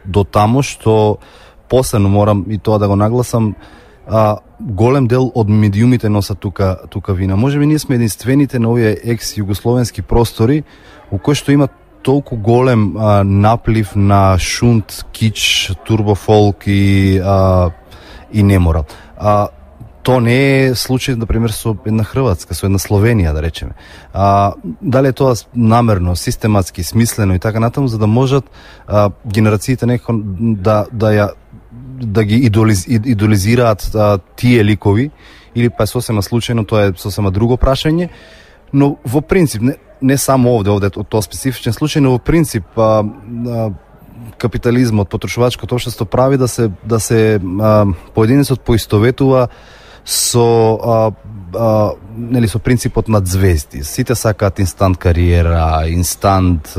до тамо што посебно морам и тоа да го нагласам, голем дел од медиумите носат тука вина. Можеби ние сме единствените на овие екс-југословенски простори у кои што имат толку голем наплив на шунт, кич, турбофолк и неморал. Тоа не е случај, например, со една Хрватска, со една Словенија, да речеме. Дали е тоа намерно, систематски, смислено и така натаму, за да можат генерациите некако да ги идолизираат тие ликови, или па сосема случајно, тоа е сосема друго прашање, но во принцип, не само овде од тоа специфичен случај, но во принцип капитализмот, потрошувачкото општество прави да се поединецот поистоветува со принципот на звезди. Сите сакаат инстант кариера, инстант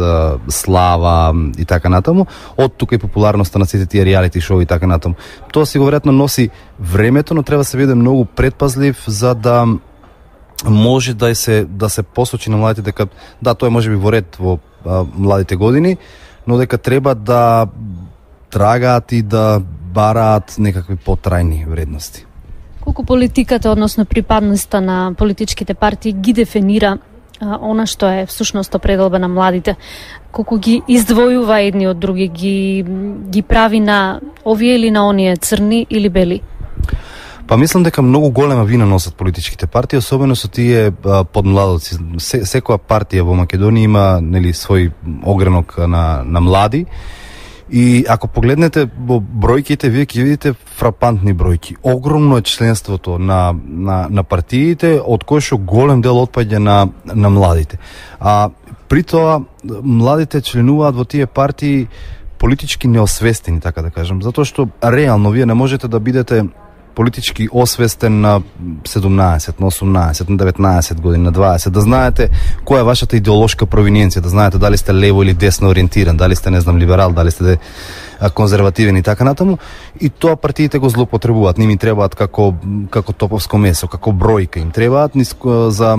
слава и така натаму. Од тука и популарноста на сите тие реалити шоу и така натаму. Тоа си го веројатно носи времето, но треба се биде многу предпазлив за да може да се посочи на младите дека да, тоа може би во ред во младите години, но дека треба да трагаат и да бараат некакви потрајни вредности. Колку политиката, односно припадноста на политичките партии ги дефинира она што е всушност определба на младите? Колку ги издвојува едни од други, ги прави на овие или на оние, црни или бели? Па мислам дека многу голема вина носат политичките партии, особено со тие подмладоци. Секоја партија во Македонија има свој огранок на млади. И ако погледнете во бројките, вие ќе видите фрапантни бројки. Огромно е членството на партиите, од кој што голем дел отпаѓа на младите. При тоа, младите членуваат во тие партии политички неосвестени, така да кажам, затоа што реално вие не можете да бидете политички освестен на 17, на 18, на 19 години, на 20, да знаете која е вашата идеолошка провиненција, да знаете дали сте лево или десно ориентиран, дали сте, не знам, либерал, дали сте конзервативен и така натаму, и тоа партиите го злоупотребуваат. Не им требаат како топовско месо, како бројка, им требаат за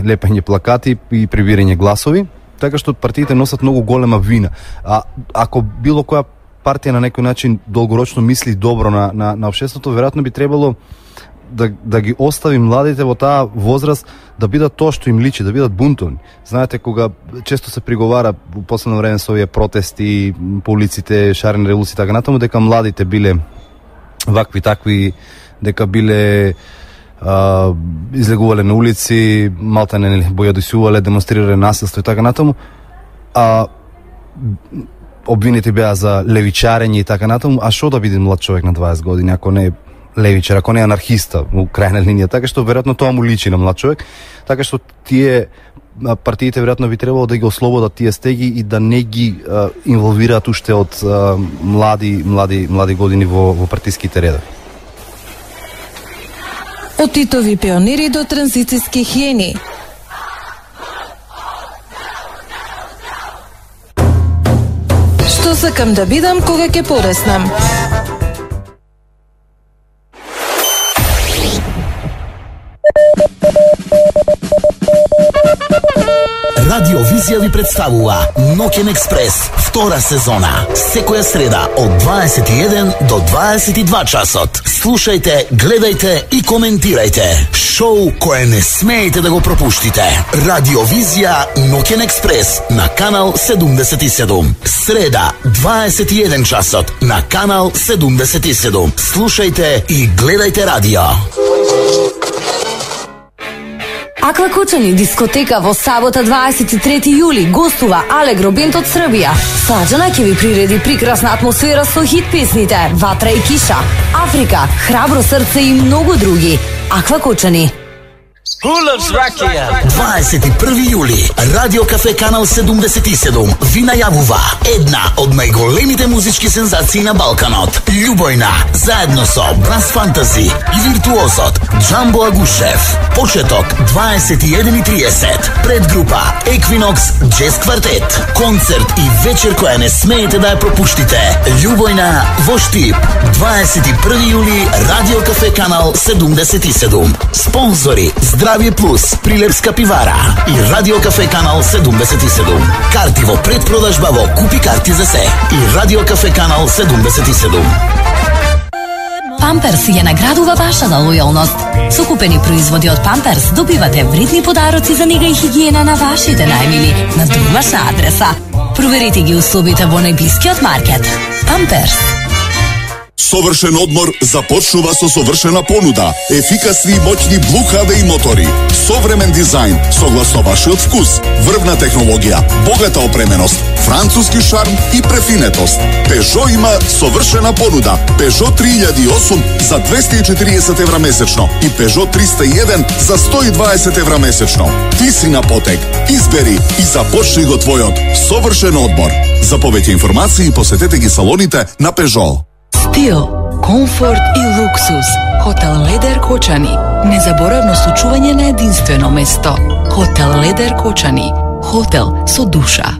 лепење плакати и прибирање гласови, така што партиите носат многу голема вина. А ако било која партија на некој начин долгорочно мисли добро на општеството, веројатно би требало да ги остави младите во таа возраст да бидат тоа што им личи, да бидат бунтовни. Знаете, кога често се приговара во последно време со овие протести по улиците, шарени револуции и така натаму, дека младите биле вакви такви, дека биле излегувале на улици, малтане бојадисувале, демонстрирале насилство и така натаму, а обвинети беа за левичарење и така натаму. А што да биде млад човек на 20 години ако не е левичар, ако не е анархиста во крајна линија? Така што веројатно тоа му личи на млад човек, така што тие партиите веројатно би требало да ги ослободат тие стеги и да не ги инволвираат уште од млади години во партиските редови. Од титови пионери до транзицијски хиени. Што сакам да бидам кога ќе пореснам? Радиовизија ви представува Ноќен експрес, втора сезона. Секоја среда од 21 до 22 часот. Слушајте, гледајте и коментирајте. Шоу кое не смеете да го пропуштите. Радиовизија Ноќен експрес на канал 77. Среда, 21 часот на канал 77. Слушајте и гледајте радио. Аквакочани дискотека во сабота 23 јули гостува Алегро Бенд од Србија. Саđана ќе ви приреди прекрасна атмосфера со хит песните Ватра и киша, Африка, Храбро срце и многу други. Аквакочани. 21 јули, Радио Кафе Канал 77 ви најавува една од најголемите музички сензации на Балканот. Љубојна, заедно со Брас Фантази и виртуозот Джамбо Агушев. Почеток 21:30. Предгрупа Еквинокс Джез Квартет. Концерт и вечер која не смеете да ја пропуштите. Љубојна во Штип. 21 јули, Радио Кафе Канал 77. Спонзори Здравје Плюс, Прилепска пивара и Радио Кафе Канал 77. Карти во предпродажба во Купи карти за се и Радио Кафе Канал 77. Памперс ја наградува вашата лојалност. Со купени производи од Памперс добивате вредни подароци за нега и хигиена на вашите најмили на домашна адреса. Проверете ги условите во најблискиот маркет. Памперс. Совршен одмор започнува со совршена понуда. Ефикасни и моќни Blue HDI мотори. Современ дизајн, согласно вашиот вкус. Врвна технологија, богата опременост, француски шарм и префинетост. Peugeot има совршена понуда. Peugeot 3008 за 240 евра месечно и Peugeot 301 за 120 евра месечно. Ти си на потек. Избери и започни го твојот совршен одмор. За повеќе информации посетете ги салоните на Peugeot. Стил, комфорт и луксус. Хотел Ледер Кочани. Незаборавно случување на единствено место. Хотел Ледер Кочани. Хотел со душа.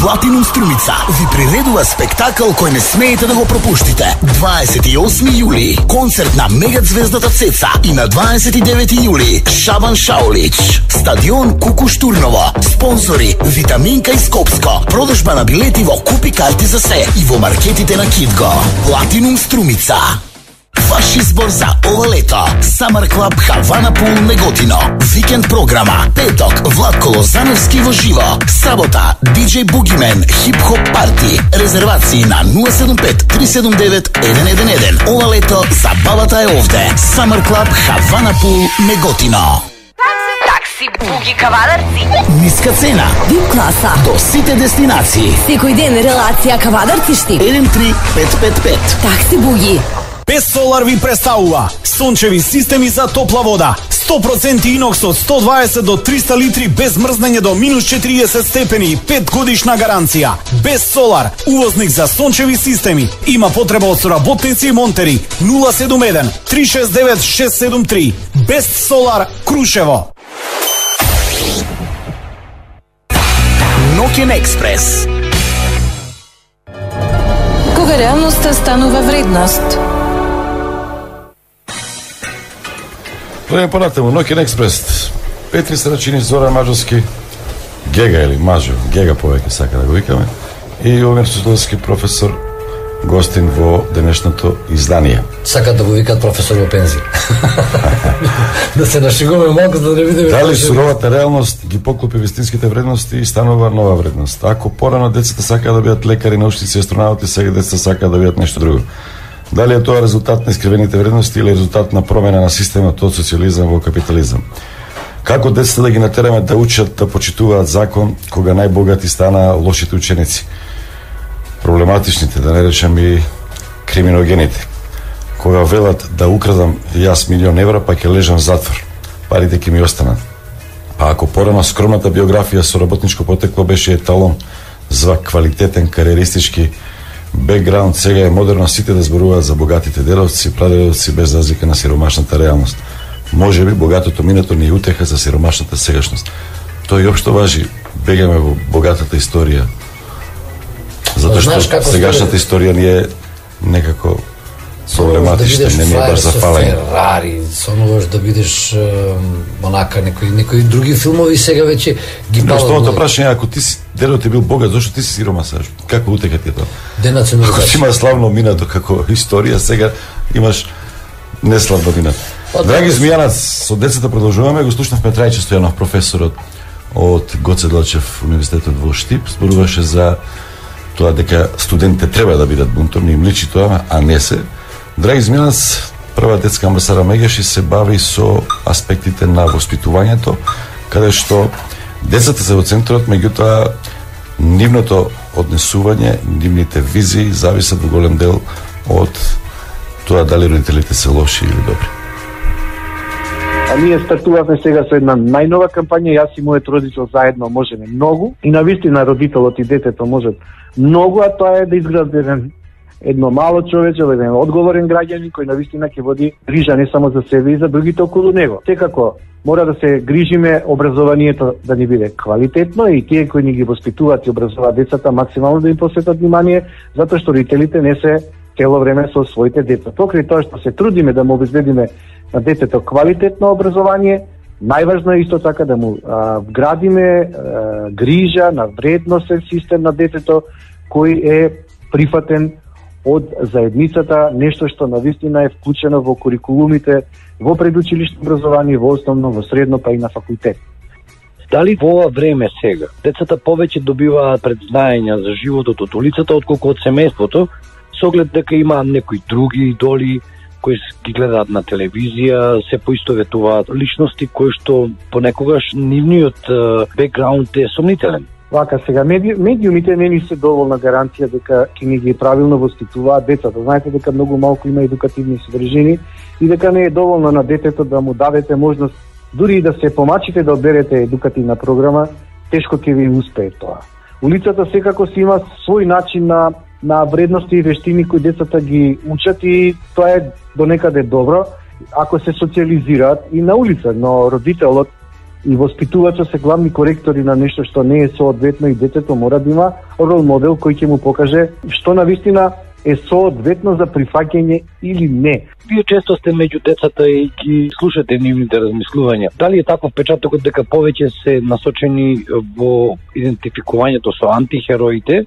Платинум Струмица ви приредува спектакл кој не смеете да го пропуштите. 28 јули концерт на мегазвездата Цеца и на 29 јули Шабан Шаулич. Стадион Кукуш Турново. Спонзори Витаминка и Скопско. Продажба на билети во Купи карти за се и во маркетите на Кидго. Платинум Струмица. Ваш избор за ова лето. Summer Club Havana Pool Неготино. Викенд програма. Петок Владко Лозановски во живо. Сабота DJ Boogeyman хип-хоп парти. Резервации на 075-379-111. Ова лето забавата е овде. Summer Club Havana Pool Неготино. Такси Буги Кавадарци. Ниска цена. VIP класа. До сите дестинации. Секој ден релација Кавадарци штип. 13555. Такси Буги. Без Солар ви представува сончеви системи за топла вода. 100% инокс од 120 до 300 литри без мрзнење до минус 40 степени, 5 годишна гаранција. Без Солар, увозник за сончеви системи. Има потреба од соработници и монтери. 071 369 673. Без Солар, Крушево. Ноќен експрес. Кога реалноста станува вредност? Тоа е понатаму, Ноќен експрес. Петри Срачини, Зоран Маđовски, Гега или Мажо, Гега повеќе сака да го викаме, и Огнер Судовски, професор, гостин во денешното издание. Сакат да го викат професор во пензија. Да се нашегуваме малку за да не видиме. Дали суровата реалност ги поклопи вистинските вредности и станува нова вредност. Ако порано децата сакаат да бидат лекари, научници, астронавти, сега децата сакаат да бидат нешто друго. Дали е тоа резултат на искривените вредности или резултат на промена на системот од социализам во капитализам? Како децата да ги натераме да учат да почитуваат закон кога најбогати стана лошите ученици? Проблематичните, да не речем и криминогените. Кога велат да украдам јас €1.000.000, па ќе лежам в затвор. Парите ќе ми останат. Па ако порано скромната биографија со работничко потекло беше еталон за квалитетен кариеристички бекграунд, сега е модерно сите да зборуваат за богатите деловци, прадедовци без разлика на сиромашната реалност. Може би богатото минато ни утеха за сиромашната сегашност. Тоа и општо важи, бегаме во богатата историја. Затоа што сегашната историја ни е некако проблематична, не ми е баш зафалена. Ферари, сонуваш да бидеш онака некои други филмови сега веќе ги палат. Што прашање, ако ти си дедот е бил богат, зошто ти си сиромасаш? Како утека ти е тоа? Ако си има славно минато како историја, сега имаш неславно минато. Драги Змијанац, со децата продолжуваме, го слушнавме Трајче Стојанов, професорот од Гоце Делчев универзитетот во Штип, зборуваше за тоа дека студентите треба да бидат бунтовни, им личи тоа, а не се. Драги Змијанац, прва детска амбасада Мегеши се бави со аспектите на воспитувањето, каде што децата се во центарот, меѓутоа нивното однесување, нивните визии зависат во голем дел од тоа дали родителите се лоши или добри. А ние стартувавме сега со една најнова кампања, јас и мојот родител заедно можеме многу, и навистина родителот и детето можат многу, а тоа е да изградат едно мало човече, еден одговорен граѓанин кој навистина ќе води грижа не само за себе и за другите околу него. Секако мора да се грижиме образованието да ни биде квалитетно и тие кои ни ги воспитуваат и образуваат децата максимално да им посветат внимание, затоа што родителите не се цело време со своите деца. Покрај тоа што се трудиме да му обезбедиме на детето квалитетно образование, најважно е исто така да му вградиме грижа на вредносен систем на детето кој е прифатен од заедницата, нешто што навистина е вклучено во курикулумите, во предучилишно образование, во основно, во средно, па и на факултет. Дали во ова време сега децата повеќе добиваат предзнаења за животот од улицата отколку од семејството, со оглед дека има некои други идоли кои ги гледаат на телевизија, се поистоветуваат личности кои што понекогаш нивниот бекграунд е сомнителен? Вака, сега медиумите не ни се доволна гаранција дека ќе ни ги правилно воспитуваат децата. Знаете дека многу малку има едукативни содржини и дека не е доволно на детето да му дадете можност, дури и да се помачите да одберете едукативна програма, тешко ќе ви успее тоа. Улицата секако си има свој начин на вредности и вештини кои децата ги учат и тоа е до некаде добро ако се социализираат и на улица, но родителот и воспитувачот се главни коректори на нешто што не е соодветно и детето мора да има рол модел кој ќе му покаже што навистина е соодветно за прифаќање или не. Вие често сте меѓу децата и ги слушате нивните размислувања. Дали е таков впечатокот дека повеќе се насочени во идентификувањето со антихероите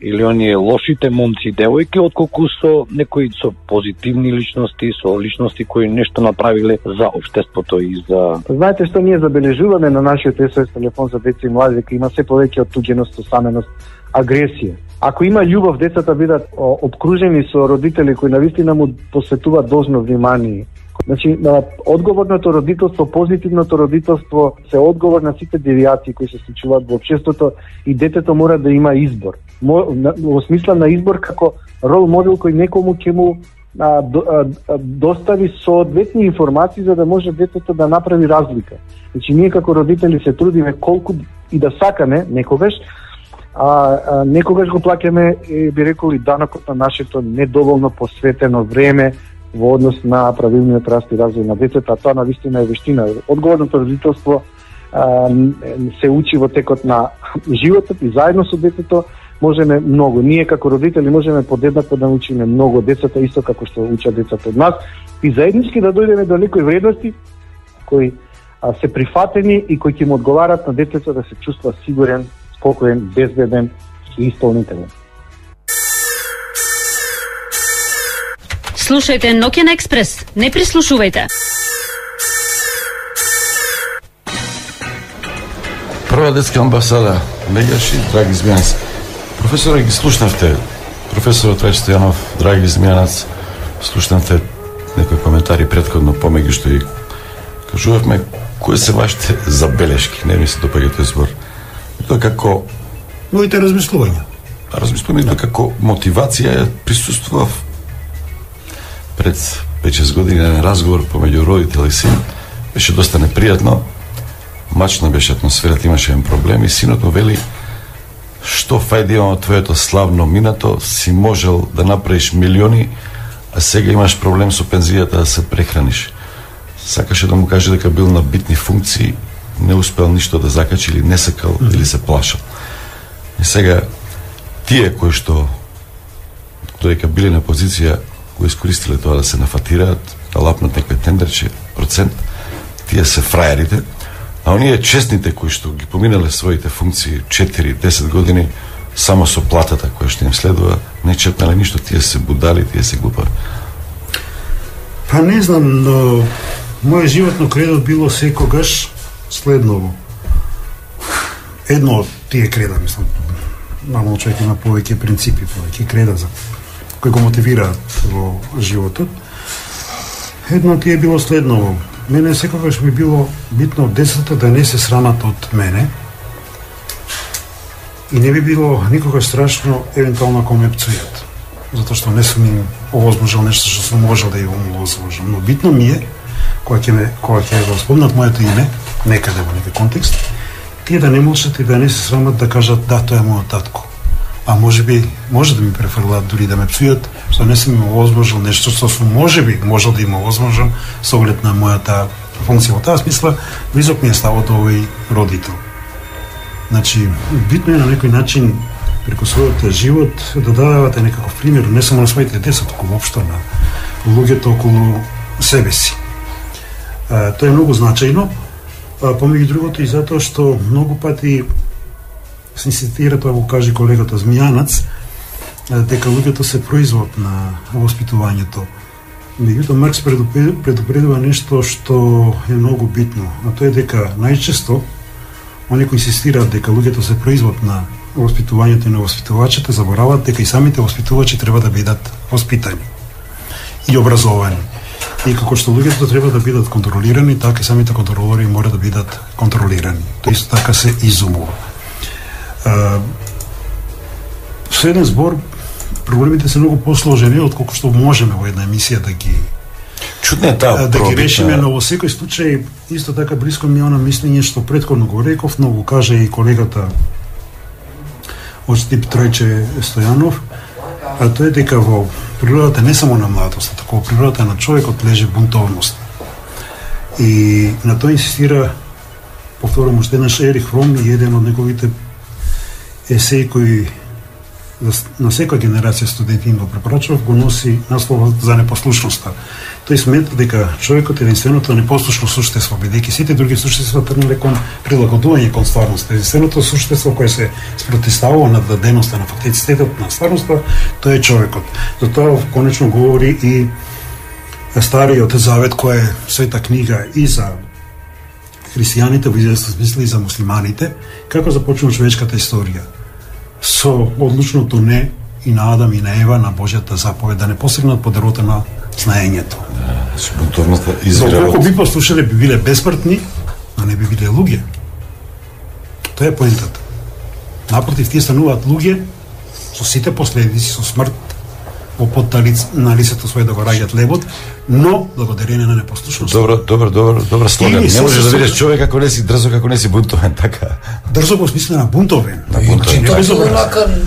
или оние лошите момци и девојки, отколку со некои со позитивни личности, со личности кои нешто направиле за општеството и за... Знаете што ние забележуваме на нашиот СОС телефон за деца и млади, дека има се повеќе оттуѓеност, осаменост, агресија. Ако има љубов, децата бидат обкружени со родители кои навистина му посветуваат должно внимание. Значи, одговорното родителство, позитивното родителство се одговор на сите девијации кои се случуваат во општеството и детето мора да има избор. Во смисла на избор како рол модел кој некому ќе му достави соодветни информации за да може детето да направи разлика. Значи, ние како родители се трудиме колку и да сакаме некогаш, некогаш го плаќаме, би рекол, и данокот на нашето недоволно посветено време во однос на правилниот раст и развој на детето, а тоа навистина е вештина. Одговорното родителство се учи во текот на животот и заедно со детето можеме многу. Ние како родители можеме подеднакво да учиме многу децата, исто како што учат децата од нас, и заеднички да дојдеме до некои вредности кои се прифатени и кои ќе му одговарат на детето да се чувства сигурен, спокоен, безбеден и исполнителен. Слушајте Ноќен експрес, не прислушувајте. Прва детска амбасада, Меѓаши, драги Змијанац. Професоре, ги слушнавте, професорот Рај Стојанов, драги Змијанац, слушнавте некои коментари претходно помеѓу што и кажувавме кои се вашите забелешки, не ми се допаѓа тој збор. Тоа како моите размислувања. Размислувања како мотивација присуствував пред 5-6 години на разговор помеѓу родител и син. Беше доста непријатно. Мачна беше атмосферата, имаше еден проблем и синот му вели: "Што фајде има од твоето славно минато, си можел да направиш милиони, а сега имаш проблем со пензијата да се прехраниш." Сакаше да му каже дека бил на битни функции, не успел ништо да закачи или не сакал или се плашал. И сега тие кои што додека биле на позиција го искористиле тоа да се нафатираат, да лапнат некој тендерче, процент, тие се фраерите, а оние честните кои што ги поминале своите функции 4-10 години само со платата која што им следува, не четнале ништо, тие се будали, тие се глупави. Па не знам, но мојот животно кредо било секогаш следново. Едно од тие креда, мислам, нормално човек има повеќе принципи, повеќе креда за кои го мотивираат во животот. Едно од тие било следново. Мене секогаш ми било битно од децата да не се срамат од мене и не би било никогаш страшно евентуално ако ме пцујат, затоа што не сум им овозможил нешто што сум можел да им овозможам. Но битно ми е кога ќе го спомнат моето име некаде во некој контекст, тие да не молчат и да не се срамат да кажат да, тоа е мојот татко. А може да ми префрлат, дури да ме псујат, што не сум им овозможил нешто што сум можеби можел да им овозможам со оглед на мојата функција. Во таа смисла, близок ми е ставот до овој родител. Значи, битно е на некој начин преку својот живот да давате некаков пример, не само на своите деца, туку воопшто на луѓето околу себе си. Тоа е многу значајно, помеѓу другото и затоа што многу пати се инсистира, тоа го каже колегата Змијанац, дека луѓето се производ на воспитувањето. Меѓутоа Маркс предупредува нешто што е многу битно, а тоа е дека најчесто они кои инсистираат дека луѓето се производ на воспитувањето и на воспитувачите забораваат дека и самите воспитувачи треба да бидат воспитани и образовани. И како што луѓето треба да бидат контролирани, така и самите контролори мора да бидат контролирани. Тоа исто така се изумува. Со еден збор, проблемите се многу посложени отколку што можеме во една емисија да ги да ги решиме, но во секој случај исто така блиско ми е она мислење што претходно го реков, но го каже и колегата од тип Тројче Стојанов, а тоа е дека во природата не само на младоста, тако во природата на човекот лежи бунтовност. И на тоа инсистира повторам уште еднаш, Ерих Фром и еден од неговите есеи кои на секоја генерација студенти го препорачував, го носи насловот за непослушноста. Тој смета дека човекот е единственото непослушно суштество, бидејќи сите други суштества тргнале кон прилагодување кон стварноста. Единственото суштество кое се спротивставува на даденоста, на фактицитетот на стварноста, тоа е човекот. Затоа конечно говори и Стариот Завет, која е света книга и за христијаните, во известен смисла и за муслиманите, како започнува човечката историја. Со одлучното не и на Адам и на Ева на Божјата заповед да не посегнат по дрвото на знаењето. Бунтовноста извира. Доколку би послушале, би биле бесмртни, но не би биле луѓе. Тоа е поентата. Напротив, тие стануваат луѓе со сите последици, со смрт во на лицето своје да го раѓат лебот, но благодарение на непослушност. Добро слоган. Не можеш да видиш човек ако не си дрзок, ако не си бунтовен, така. Дрзок во смисла на бунтовен. Тоа е онака,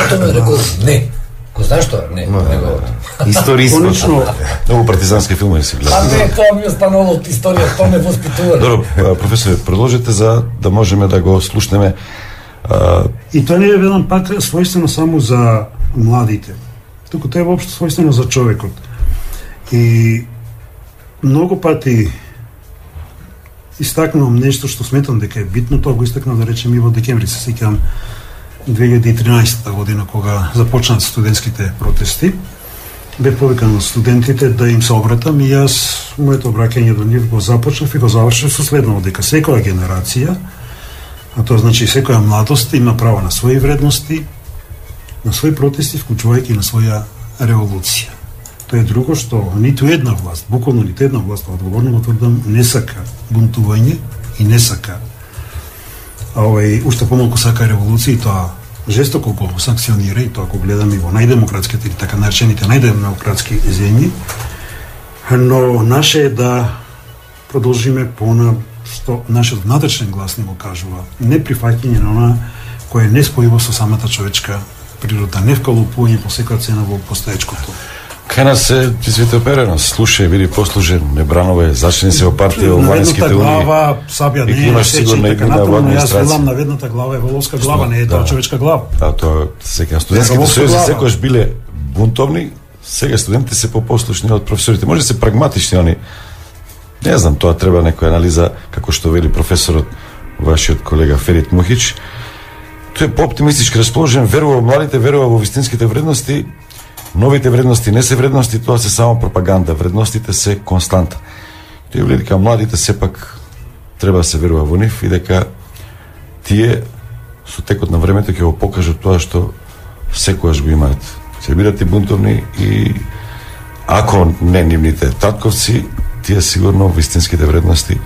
тоа рекол, не. Ко знаеш тоа? Не, историјско. Конечно, многу партизански филми се гледа. А не, тоа ми останало од историја, тоа не воспитува. Добро, професоре, продолжете за да можеме да го слушнеме. И тоа не е велам пак својствено само за младите. Туку тоа е воопшто својствено за човекот. И многу пати истакнувам нешто што сметам дека е битно, тоа го истакнав да речем и во декември, се сеќавам 2013 година кога започнат студентските протести. Бев повикан од студентите да им се обратам и јас моето обраќање до нив го започнав и го завршив со следното, дека секоја генерација, а тоа значи секоја младост има право на своји вредности, на своји протести, вклучувајќи на своја револуција. Тоа е друго што ниту една власт, буквално ниту една власт, одговорно го тврдам, не сака бунтување и не сака уште помалку сака револуција, и тоа жестоко го санкционира, и тоа го гледаме и во најдемократските или така наречените најдемократски земји, но наше е да продолжиме пона што нашиот внатрешен глас не го кажува, неприфаќање на она кое е неспојиво со самата човечка природа, не вкалупување по секоја цена во постоечкото. Кај нас се свите оперено, слушај, биди послужен, не бранове, зачни се во партија во владинските унии. На глава сабја не е сечен, така натаму, јас велам на ведната глава е воловска глава, не е тоа човечка глава. Да, тоа сега студентските сојузи секогаш биле бунтовни, сега студентите се попослушни од професорите. Може да се прагматични они. Не знам, тоа треба некоја анализа, како што вели професорот, вашиот колега Ферит Мухич. Тој е по-оптимистички расположен, верува во младите, верува во вистинските вредности. Новите вредности не се вредности, тоа се само пропаганда. Вредностите се константа. Тој вели дека младите сепак треба да се верува во нив и дека тие со текот на времето ќе го покажат тоа што секогаш го имаат. Се бидат и бунтовни и ако не нивните татковци, тие сигурно вистинските вредности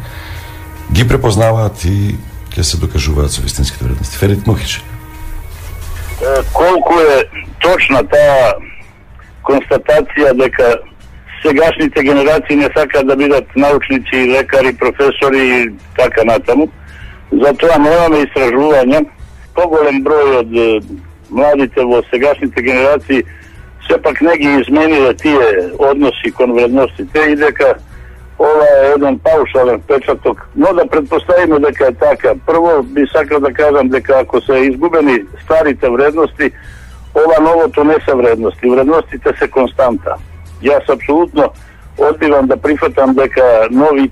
ги препознаваат и ќе се докажуваат со вистинските вредности. Ферит Мухич. Колку е точна таа констатација дека сегашните генерации не сакаат да бидат научници, лекари, професори и така натаму. Затоа немаме истражувања. Поголем број од младите во сегашните генерации сепак не ги измениле тие односи кон вредностите и дека ова е еден паушален впечаток, но да предпоставиме дека е така. Прво би сакал да кажам дека ако се изгубени старите вредности, ова новото не се вредности. Вредностите се константа. Јас апсолутно одбивам да прифатам дека нови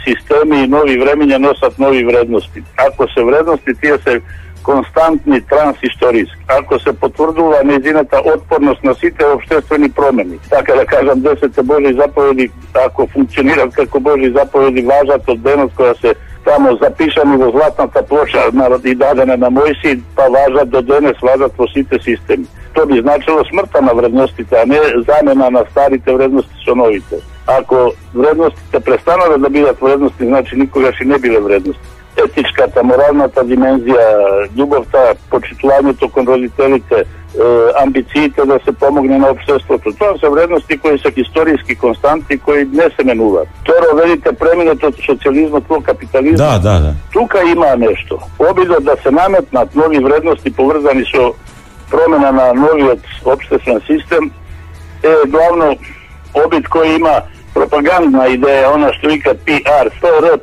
системи и нови времења носат нови вредности. Ако се вредности, тие се константни трансисториски. Ако се потврдува нејзината отпорност на сите општествени промени. Така да кажам, 10 Божји заповеди, ако функционират како Божји заповеди, важат од денот која се тамо запишани во златната плоча и дадене на Мојси, па важат до денес, важат во сите системи. Тоа би значило смртта на вредностите, а не замена на старите вредности со новите. Ако вредностите престанат да бидат вредности, значи никогаш и не биле вредности. Етичката, моралната димензија, љубовта, почитувањето кон родителите, амбициите да се помогне на општеството. Тоа се вредности кои се историски константи, кои не се менуваат. Второ, велите преминат од социјализмот во капитализмот. Да. Тука има нешто. Обидот да се наметнат нови вредности поврзани со промена на новиот општествен систем е главно обид кој има пропагандна идеја, она што вика PR,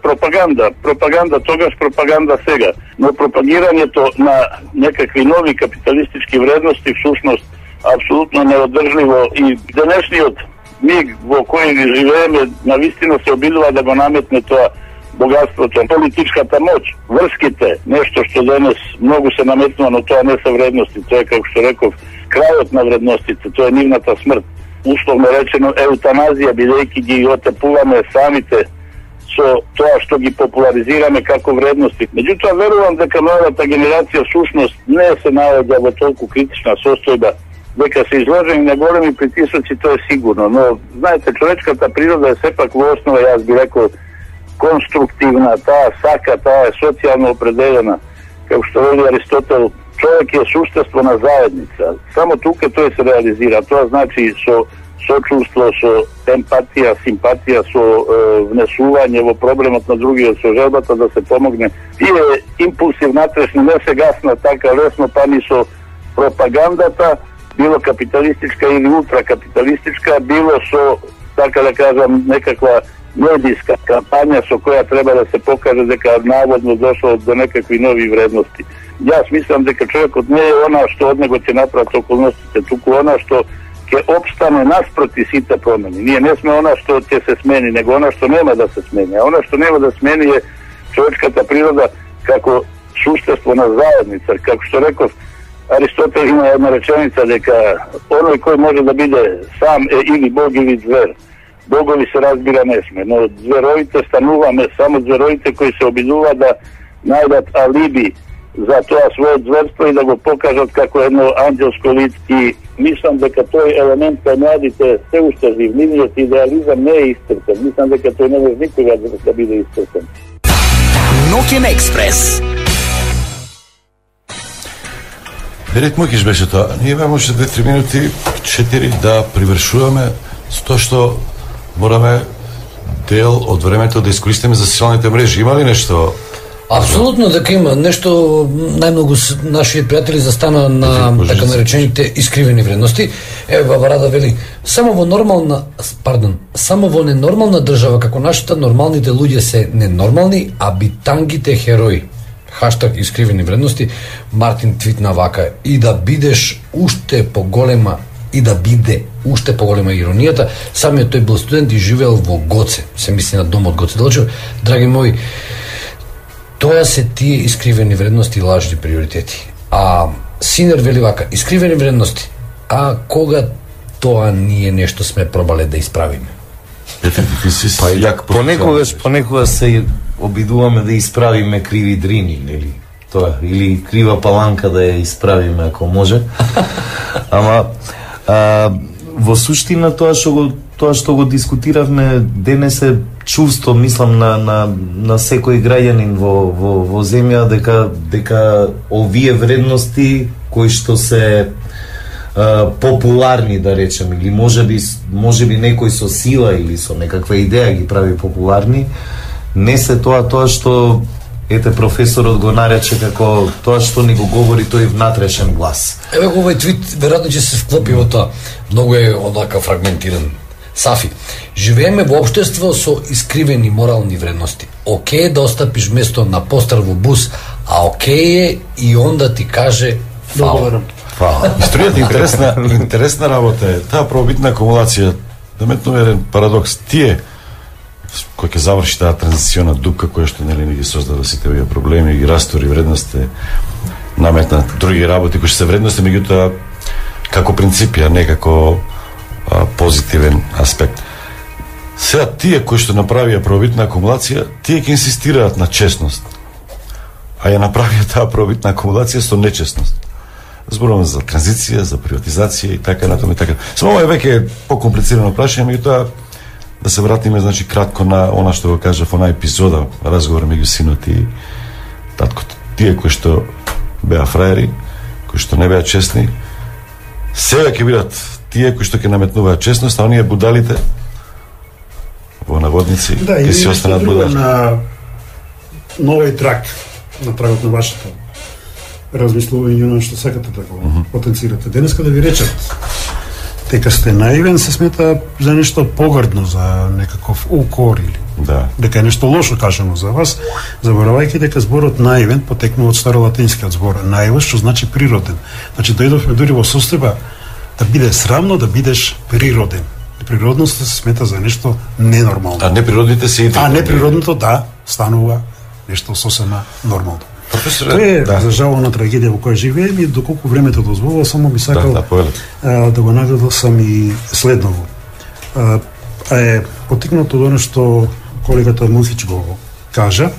пропаганда тогаш, пропаганда сега. Но пропагирањето на некакви нови капиталистички вредности всушност апсолутно неодржливо и денешниот миг во кој живееме навистина се обидува да го наметне тоа богатството, политичката моќ, врските, нешто што денес многу се наметнува, но тоа не се вредности, тоа е, како што реков, крајот на вредностите, тоа е нивната смрт. Условно речено еутаназија, бидејќи ги отепуваме самите со тоа што ги популаризираме како вредности. Меѓутоа, верувам дека новата генерација всушност не се наоѓа во толку критична состојба, дека се изложени на големи притисоци, тоа е сигурно, но знаете, човечката природа е сепак во основа, јас би рекол, конструктивна, таа сака, таа е социјално определена. Како што вели Аристотел, човек е суштество на заедница. Само тука тој се реализира. Тоа значи со сочувство, со емпатија, симпатија, со внесување во проблемот на другиот, со желбата да се помогне. Тие импулси внатрешни не се гаснат така лесно, па ни со пропагандата, било капиталистичка или ултракапиталистичка, било со, така да кажам, некаква медиска кампања со која треба да се покаже дека наводно дошло до некакви нови вредности. Јас мислам дека човекот не е она што од него ќе направат околностите, туку она што ќе обстане наспроти сите промени. Ние не сме она што ќе се смени, него она што нема да се смени. А она што нема да смени е човечката природа како суштество на заедница. Како што реков, Аристотел има една реченица дека оној кој може да биде сам е или Бог или звер. Богови се разбира не сме, но зверовите стануваме, само зверовите кои се обидува да најдат алиби за тоа својот зверство и да го покажат како едно анđелско лице. И мислам дека тој елемент кај младите се уште жив, нивниот идеализам не е истрпен. Мислам дека тој не може никога да биде истрпен. Ноќен експрес. Ред мој беше тоа. Ние може 2-3 минути, 4 да привршуваме с тоа што мораме дел од времето да искористиме за социјалните мрежи. Има ли нешто? Апсолутно дека има нешто. Најмногу наши пријатели застана на така наречените искривени вредности. Бабарада вели, само во ненормална држава како нашата нормалните луѓе се ненормални, а битангите херои. Хаштаг искривени вредности. Мартин твитна вака: и да бидеш уште поголема и да биде уште поголема иронијата. Самиот тој бил студент и живеел во Гоце. Се мисли на домот Гоце Делчев. Драги мои, тоа се тие искривени вредности и лажни приоритети. А Синер вели вака: искривени вредности. А кога тоа ние нешто сме пробале да исправиме? Понекогаш се обидуваме да исправиме криви дрини, нели? Тоа, или крива паланка да ја исправиме ако може. Ама во суштина тоа што го дискутиравме денес е чувство, мислам, на секој граѓанин во земја дека овие вредности кои што се популарни, да речем, или можеби некој со сила или со некаква идеја ги прави популарни, не се тоа што ете професорот го нарече како тоа што ни го говори тој внатрешен глас. Еве го овој твит веројатно ќе се вклопи во тоа. Многу е онака фрагментиран. Сафи, живееме во општество со искривени морални вредности. Океј да остапиш место на постар во бус, а океј е и он да ти каже фала. Историјата интересна работа е. Таа пробитна акумулација, да метнува еден парадокс. Тие кој ќе заврши таа транзициона дупка која што нели ги создава сите овие проблеми, ги растори вредности, наметна други работи кои што се вредности, меѓутоа како принципи, а не како позитивен аспект. Сега тие кои што направија пробитна акумулација, тие ќе инсистираат на честност, а ја направија таа пробитна акумулација со нечестност. Зборуваме за транзиција, за приватизација и така натаму и така. Само ова е веќе покомплицирано прашање, меѓутоа да се вратиме, значи, кратко на она што го кажав она епизода, разговор меѓу синот и таткото. Тие кои што беа фраери, кои што не беа честни, сега ќе бидат тие кои што ќе наметнуваат честност, а оние будалите во наводници ќе се останат будали. На новиот трак на трагот на вашето размислување на што сакате да го потенцирате. Денеска да ви речат дека сте наивен се смета за нешто погрдно, за некаков укор или дека е нешто лошо кажано за вас, заборавајќи дека зборот наивен потекнува од старолатинскиот збор наивос, што значи природен. Значи дојдовме дури во состојба да биде срамно да бидеш природен. Природноста се смета за нешто ненормално. А неприродните се А неприродното станува нешто сосема нормално. Професоре, тоа е за жална трагедија во која живееме и доколку времето дозволува, само би сакал да го нагласам и следново. Е потикнато до што колегата Мухич го кажа,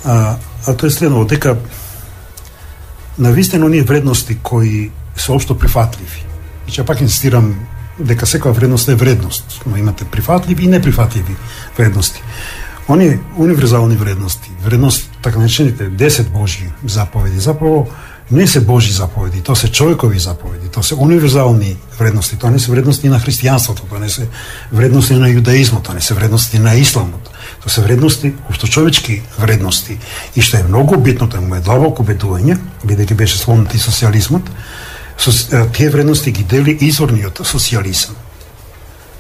а тоа е следново, дека навистина оние вредности кои се општо прифатливи. И че пак инсистирам дека секоја вредност е вредност, но имате прифатливи и неприфатливи вредности. Они универзални вредности, така наречените 10 Божји заповеди, заpravo не се Божји заповеди, тоа се човекови заповеди, тоа се универзални вредности, тоа не се вредности на христијанството, тоа не се вредности на јудаизмот, тоа не се вредности на исламот, тоа се вредности, општочовечки вредности. И што е многу битно, тоа е длабоко убедување, бидејќи беше сломнат и социјализмот, тие вредности ги дели изворниот социјализам.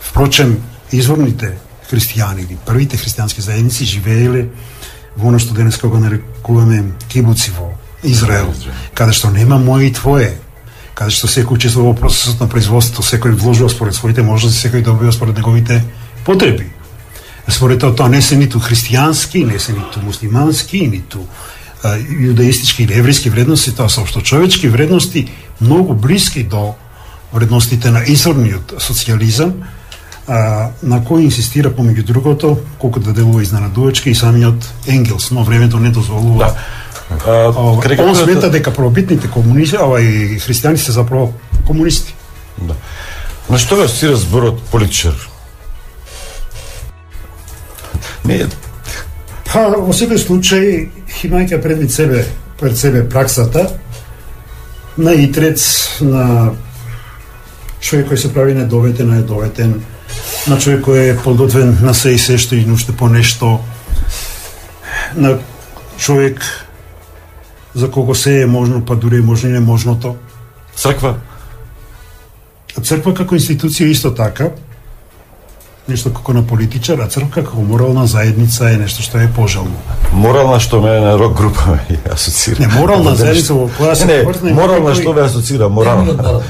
Впрочем, изворните христијани или првите христијански заедници живееле во оно што денеска го нарекуваме кибуци во Израел, каде што нема моје и твое, каде што секој учествува во процесот на производството, секој вложува според своите можности, секој добива според неговите потреби. Според тоа не се ниту христијански, не се ниту муслимански, ниту јудаистички или еврејски вредности, тоа се општочовечки вредности, многу блиски до вредностите на изворниот социјализам, на кој инсистира помеѓу другото, колку да делува изненадувачки и самиот Енгелс, но времето не дозволува. Он смета дека првобитните комунисти, и христијани се заправо комунисти. Да. На што го асоцира зборот политичар? Не. Во секој случај, имајќи пред себе праксата на итрец, на човек кој се прави недоветен, на човек кој е подготвен на се и се што и уште по нешто, на човек за кого се е можно, па дури можно и неможното. Црква? Црква како институција исто така, нешто како на политичар, а црква како морална заедница е нешто што е пожелно. Морална што ме на рок група ме асоцира. Не, морална заедница во која се повртне. Морална што ме асоцира, морална.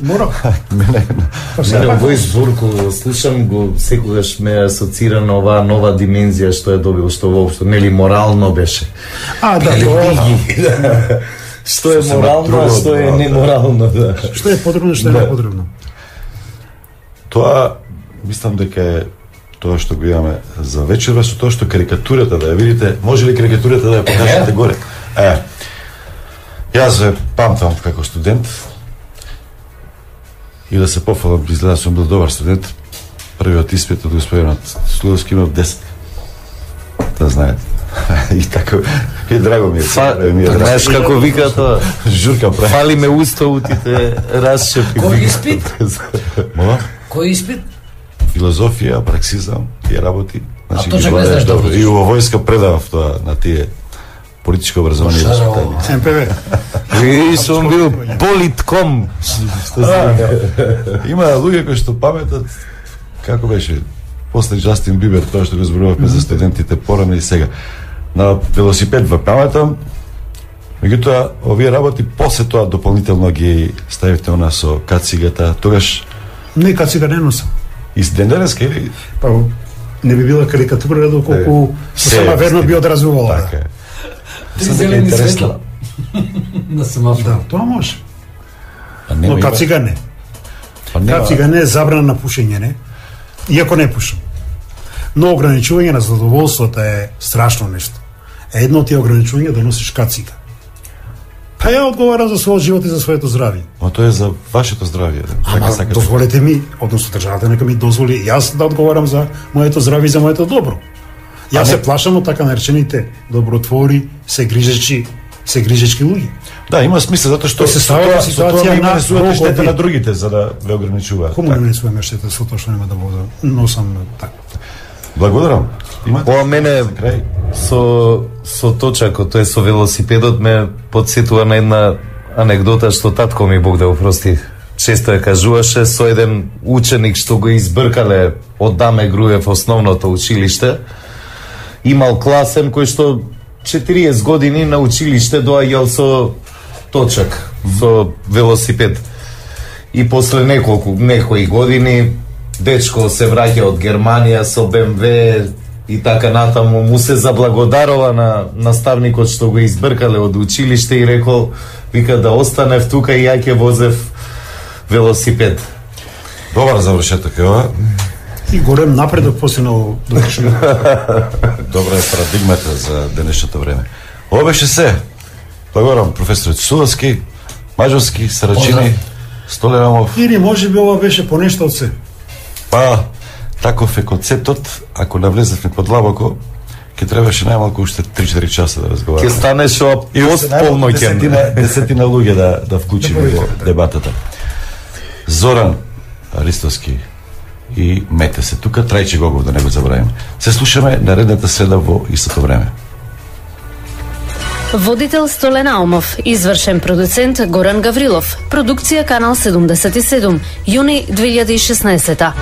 Морална. Мене овој збор кога слушам го секогаш ме асоцира на оваа нова димензија што е добил, што воопшто нели морално беше. Да, тоа. Што е морално, а што е неморално, да. Што е потребно, што е непотребно. Тоа мислам дека е тоа што го имаме за вечерва, со тоа што карикатурата да ја видите, може ли карикатурата да ја покажете горе? Јас ве памтам како студент и да се пофалам, изгледа сум бил добар студент, првиот испит од господинот Слудовски имав 10. Да знаете. И така, и драго ми е. Знаеш како вика тоа? Журка прави. Фали ме уставутите, расшепи. Кој испит? Мола? Кој испит? Филозофија, праксизам, тие работи. Значи, точно не знаеш добро. И во војска предавав тоа на тие политичко образование. МПВ. И сум бил политком. Има луѓе кои што паметат како беше после Джастин Бибер, тоа што го зборувавме за студентите порано и сега. На велосипед во паметам, меѓутоа овие работи после тоа дополнително ги ставивте у нас со кацигата, тогаш не кацига не носам. И ден денеска или? Па не би била карикатура доколку сама верно би одразувала. Така е. Три зелени светла. На семафор. Да, тоа може. Но кацига не. Кацига не е забрана на пушење, не? Иако не пушам. Но ограничување на задоволството е страшно нешто. Едно од тие ограничувања да носиш кацига. Па ја одговарам за својот живот и за своето здравје. Но тоа е за вашето здравје. Ама дозволете ми, односно државата нека ми дозволи јас да одговарам за моето здравје и за моето добро. Јас се плашам од така наречените добротвори, се грижечки луѓе. Да, има смисла затоа што се ставува ситуација на штета на другите за да ве ограничуваат. Кому не нанесуваме штета со тоа што нема да вода, носам така. Благодарам. Ова мене со точако, тоа е со велосипедот ме подсетува на една анегдота што татко ми, Бог да го прости, често ја кажуваше, со еден ученик што го избркале од Даме Груев основното училиште. Имал класен кој што 40 години на училиште доаѓал со точак, со велосипед. И после некои години дечко се враќа од Германија со БМВ и така натаму, му се заблагодарува на наставникот што го избркале од училиште и рекол, вика да останев тука и ја ќе возев велосипед. Добар завршеток е ова. И голем напредок постигнал довршено. Добра е парадигмата за денешното време. Ова беше се. Благодарам професорот Суловски, Маđовски, Сарачини, Столерамов. Или може би ова беше понешто од се. Па, таков е концептот, ако навлезевме подлабоко, ќе требаше најмалку уште 3-4 часа да разговараме. Ќе станеш постполноќен. Десетина луѓе да вклучиме во дебатата. Зоран Аристовски и Мете се тука, Трајче Гогов, да не го забравим. Се слушаме наредната среда во истото време. Водител Столен Аумов, извршен продуцент Горан Гаврилов, продукција Канал 77, јуни 2016.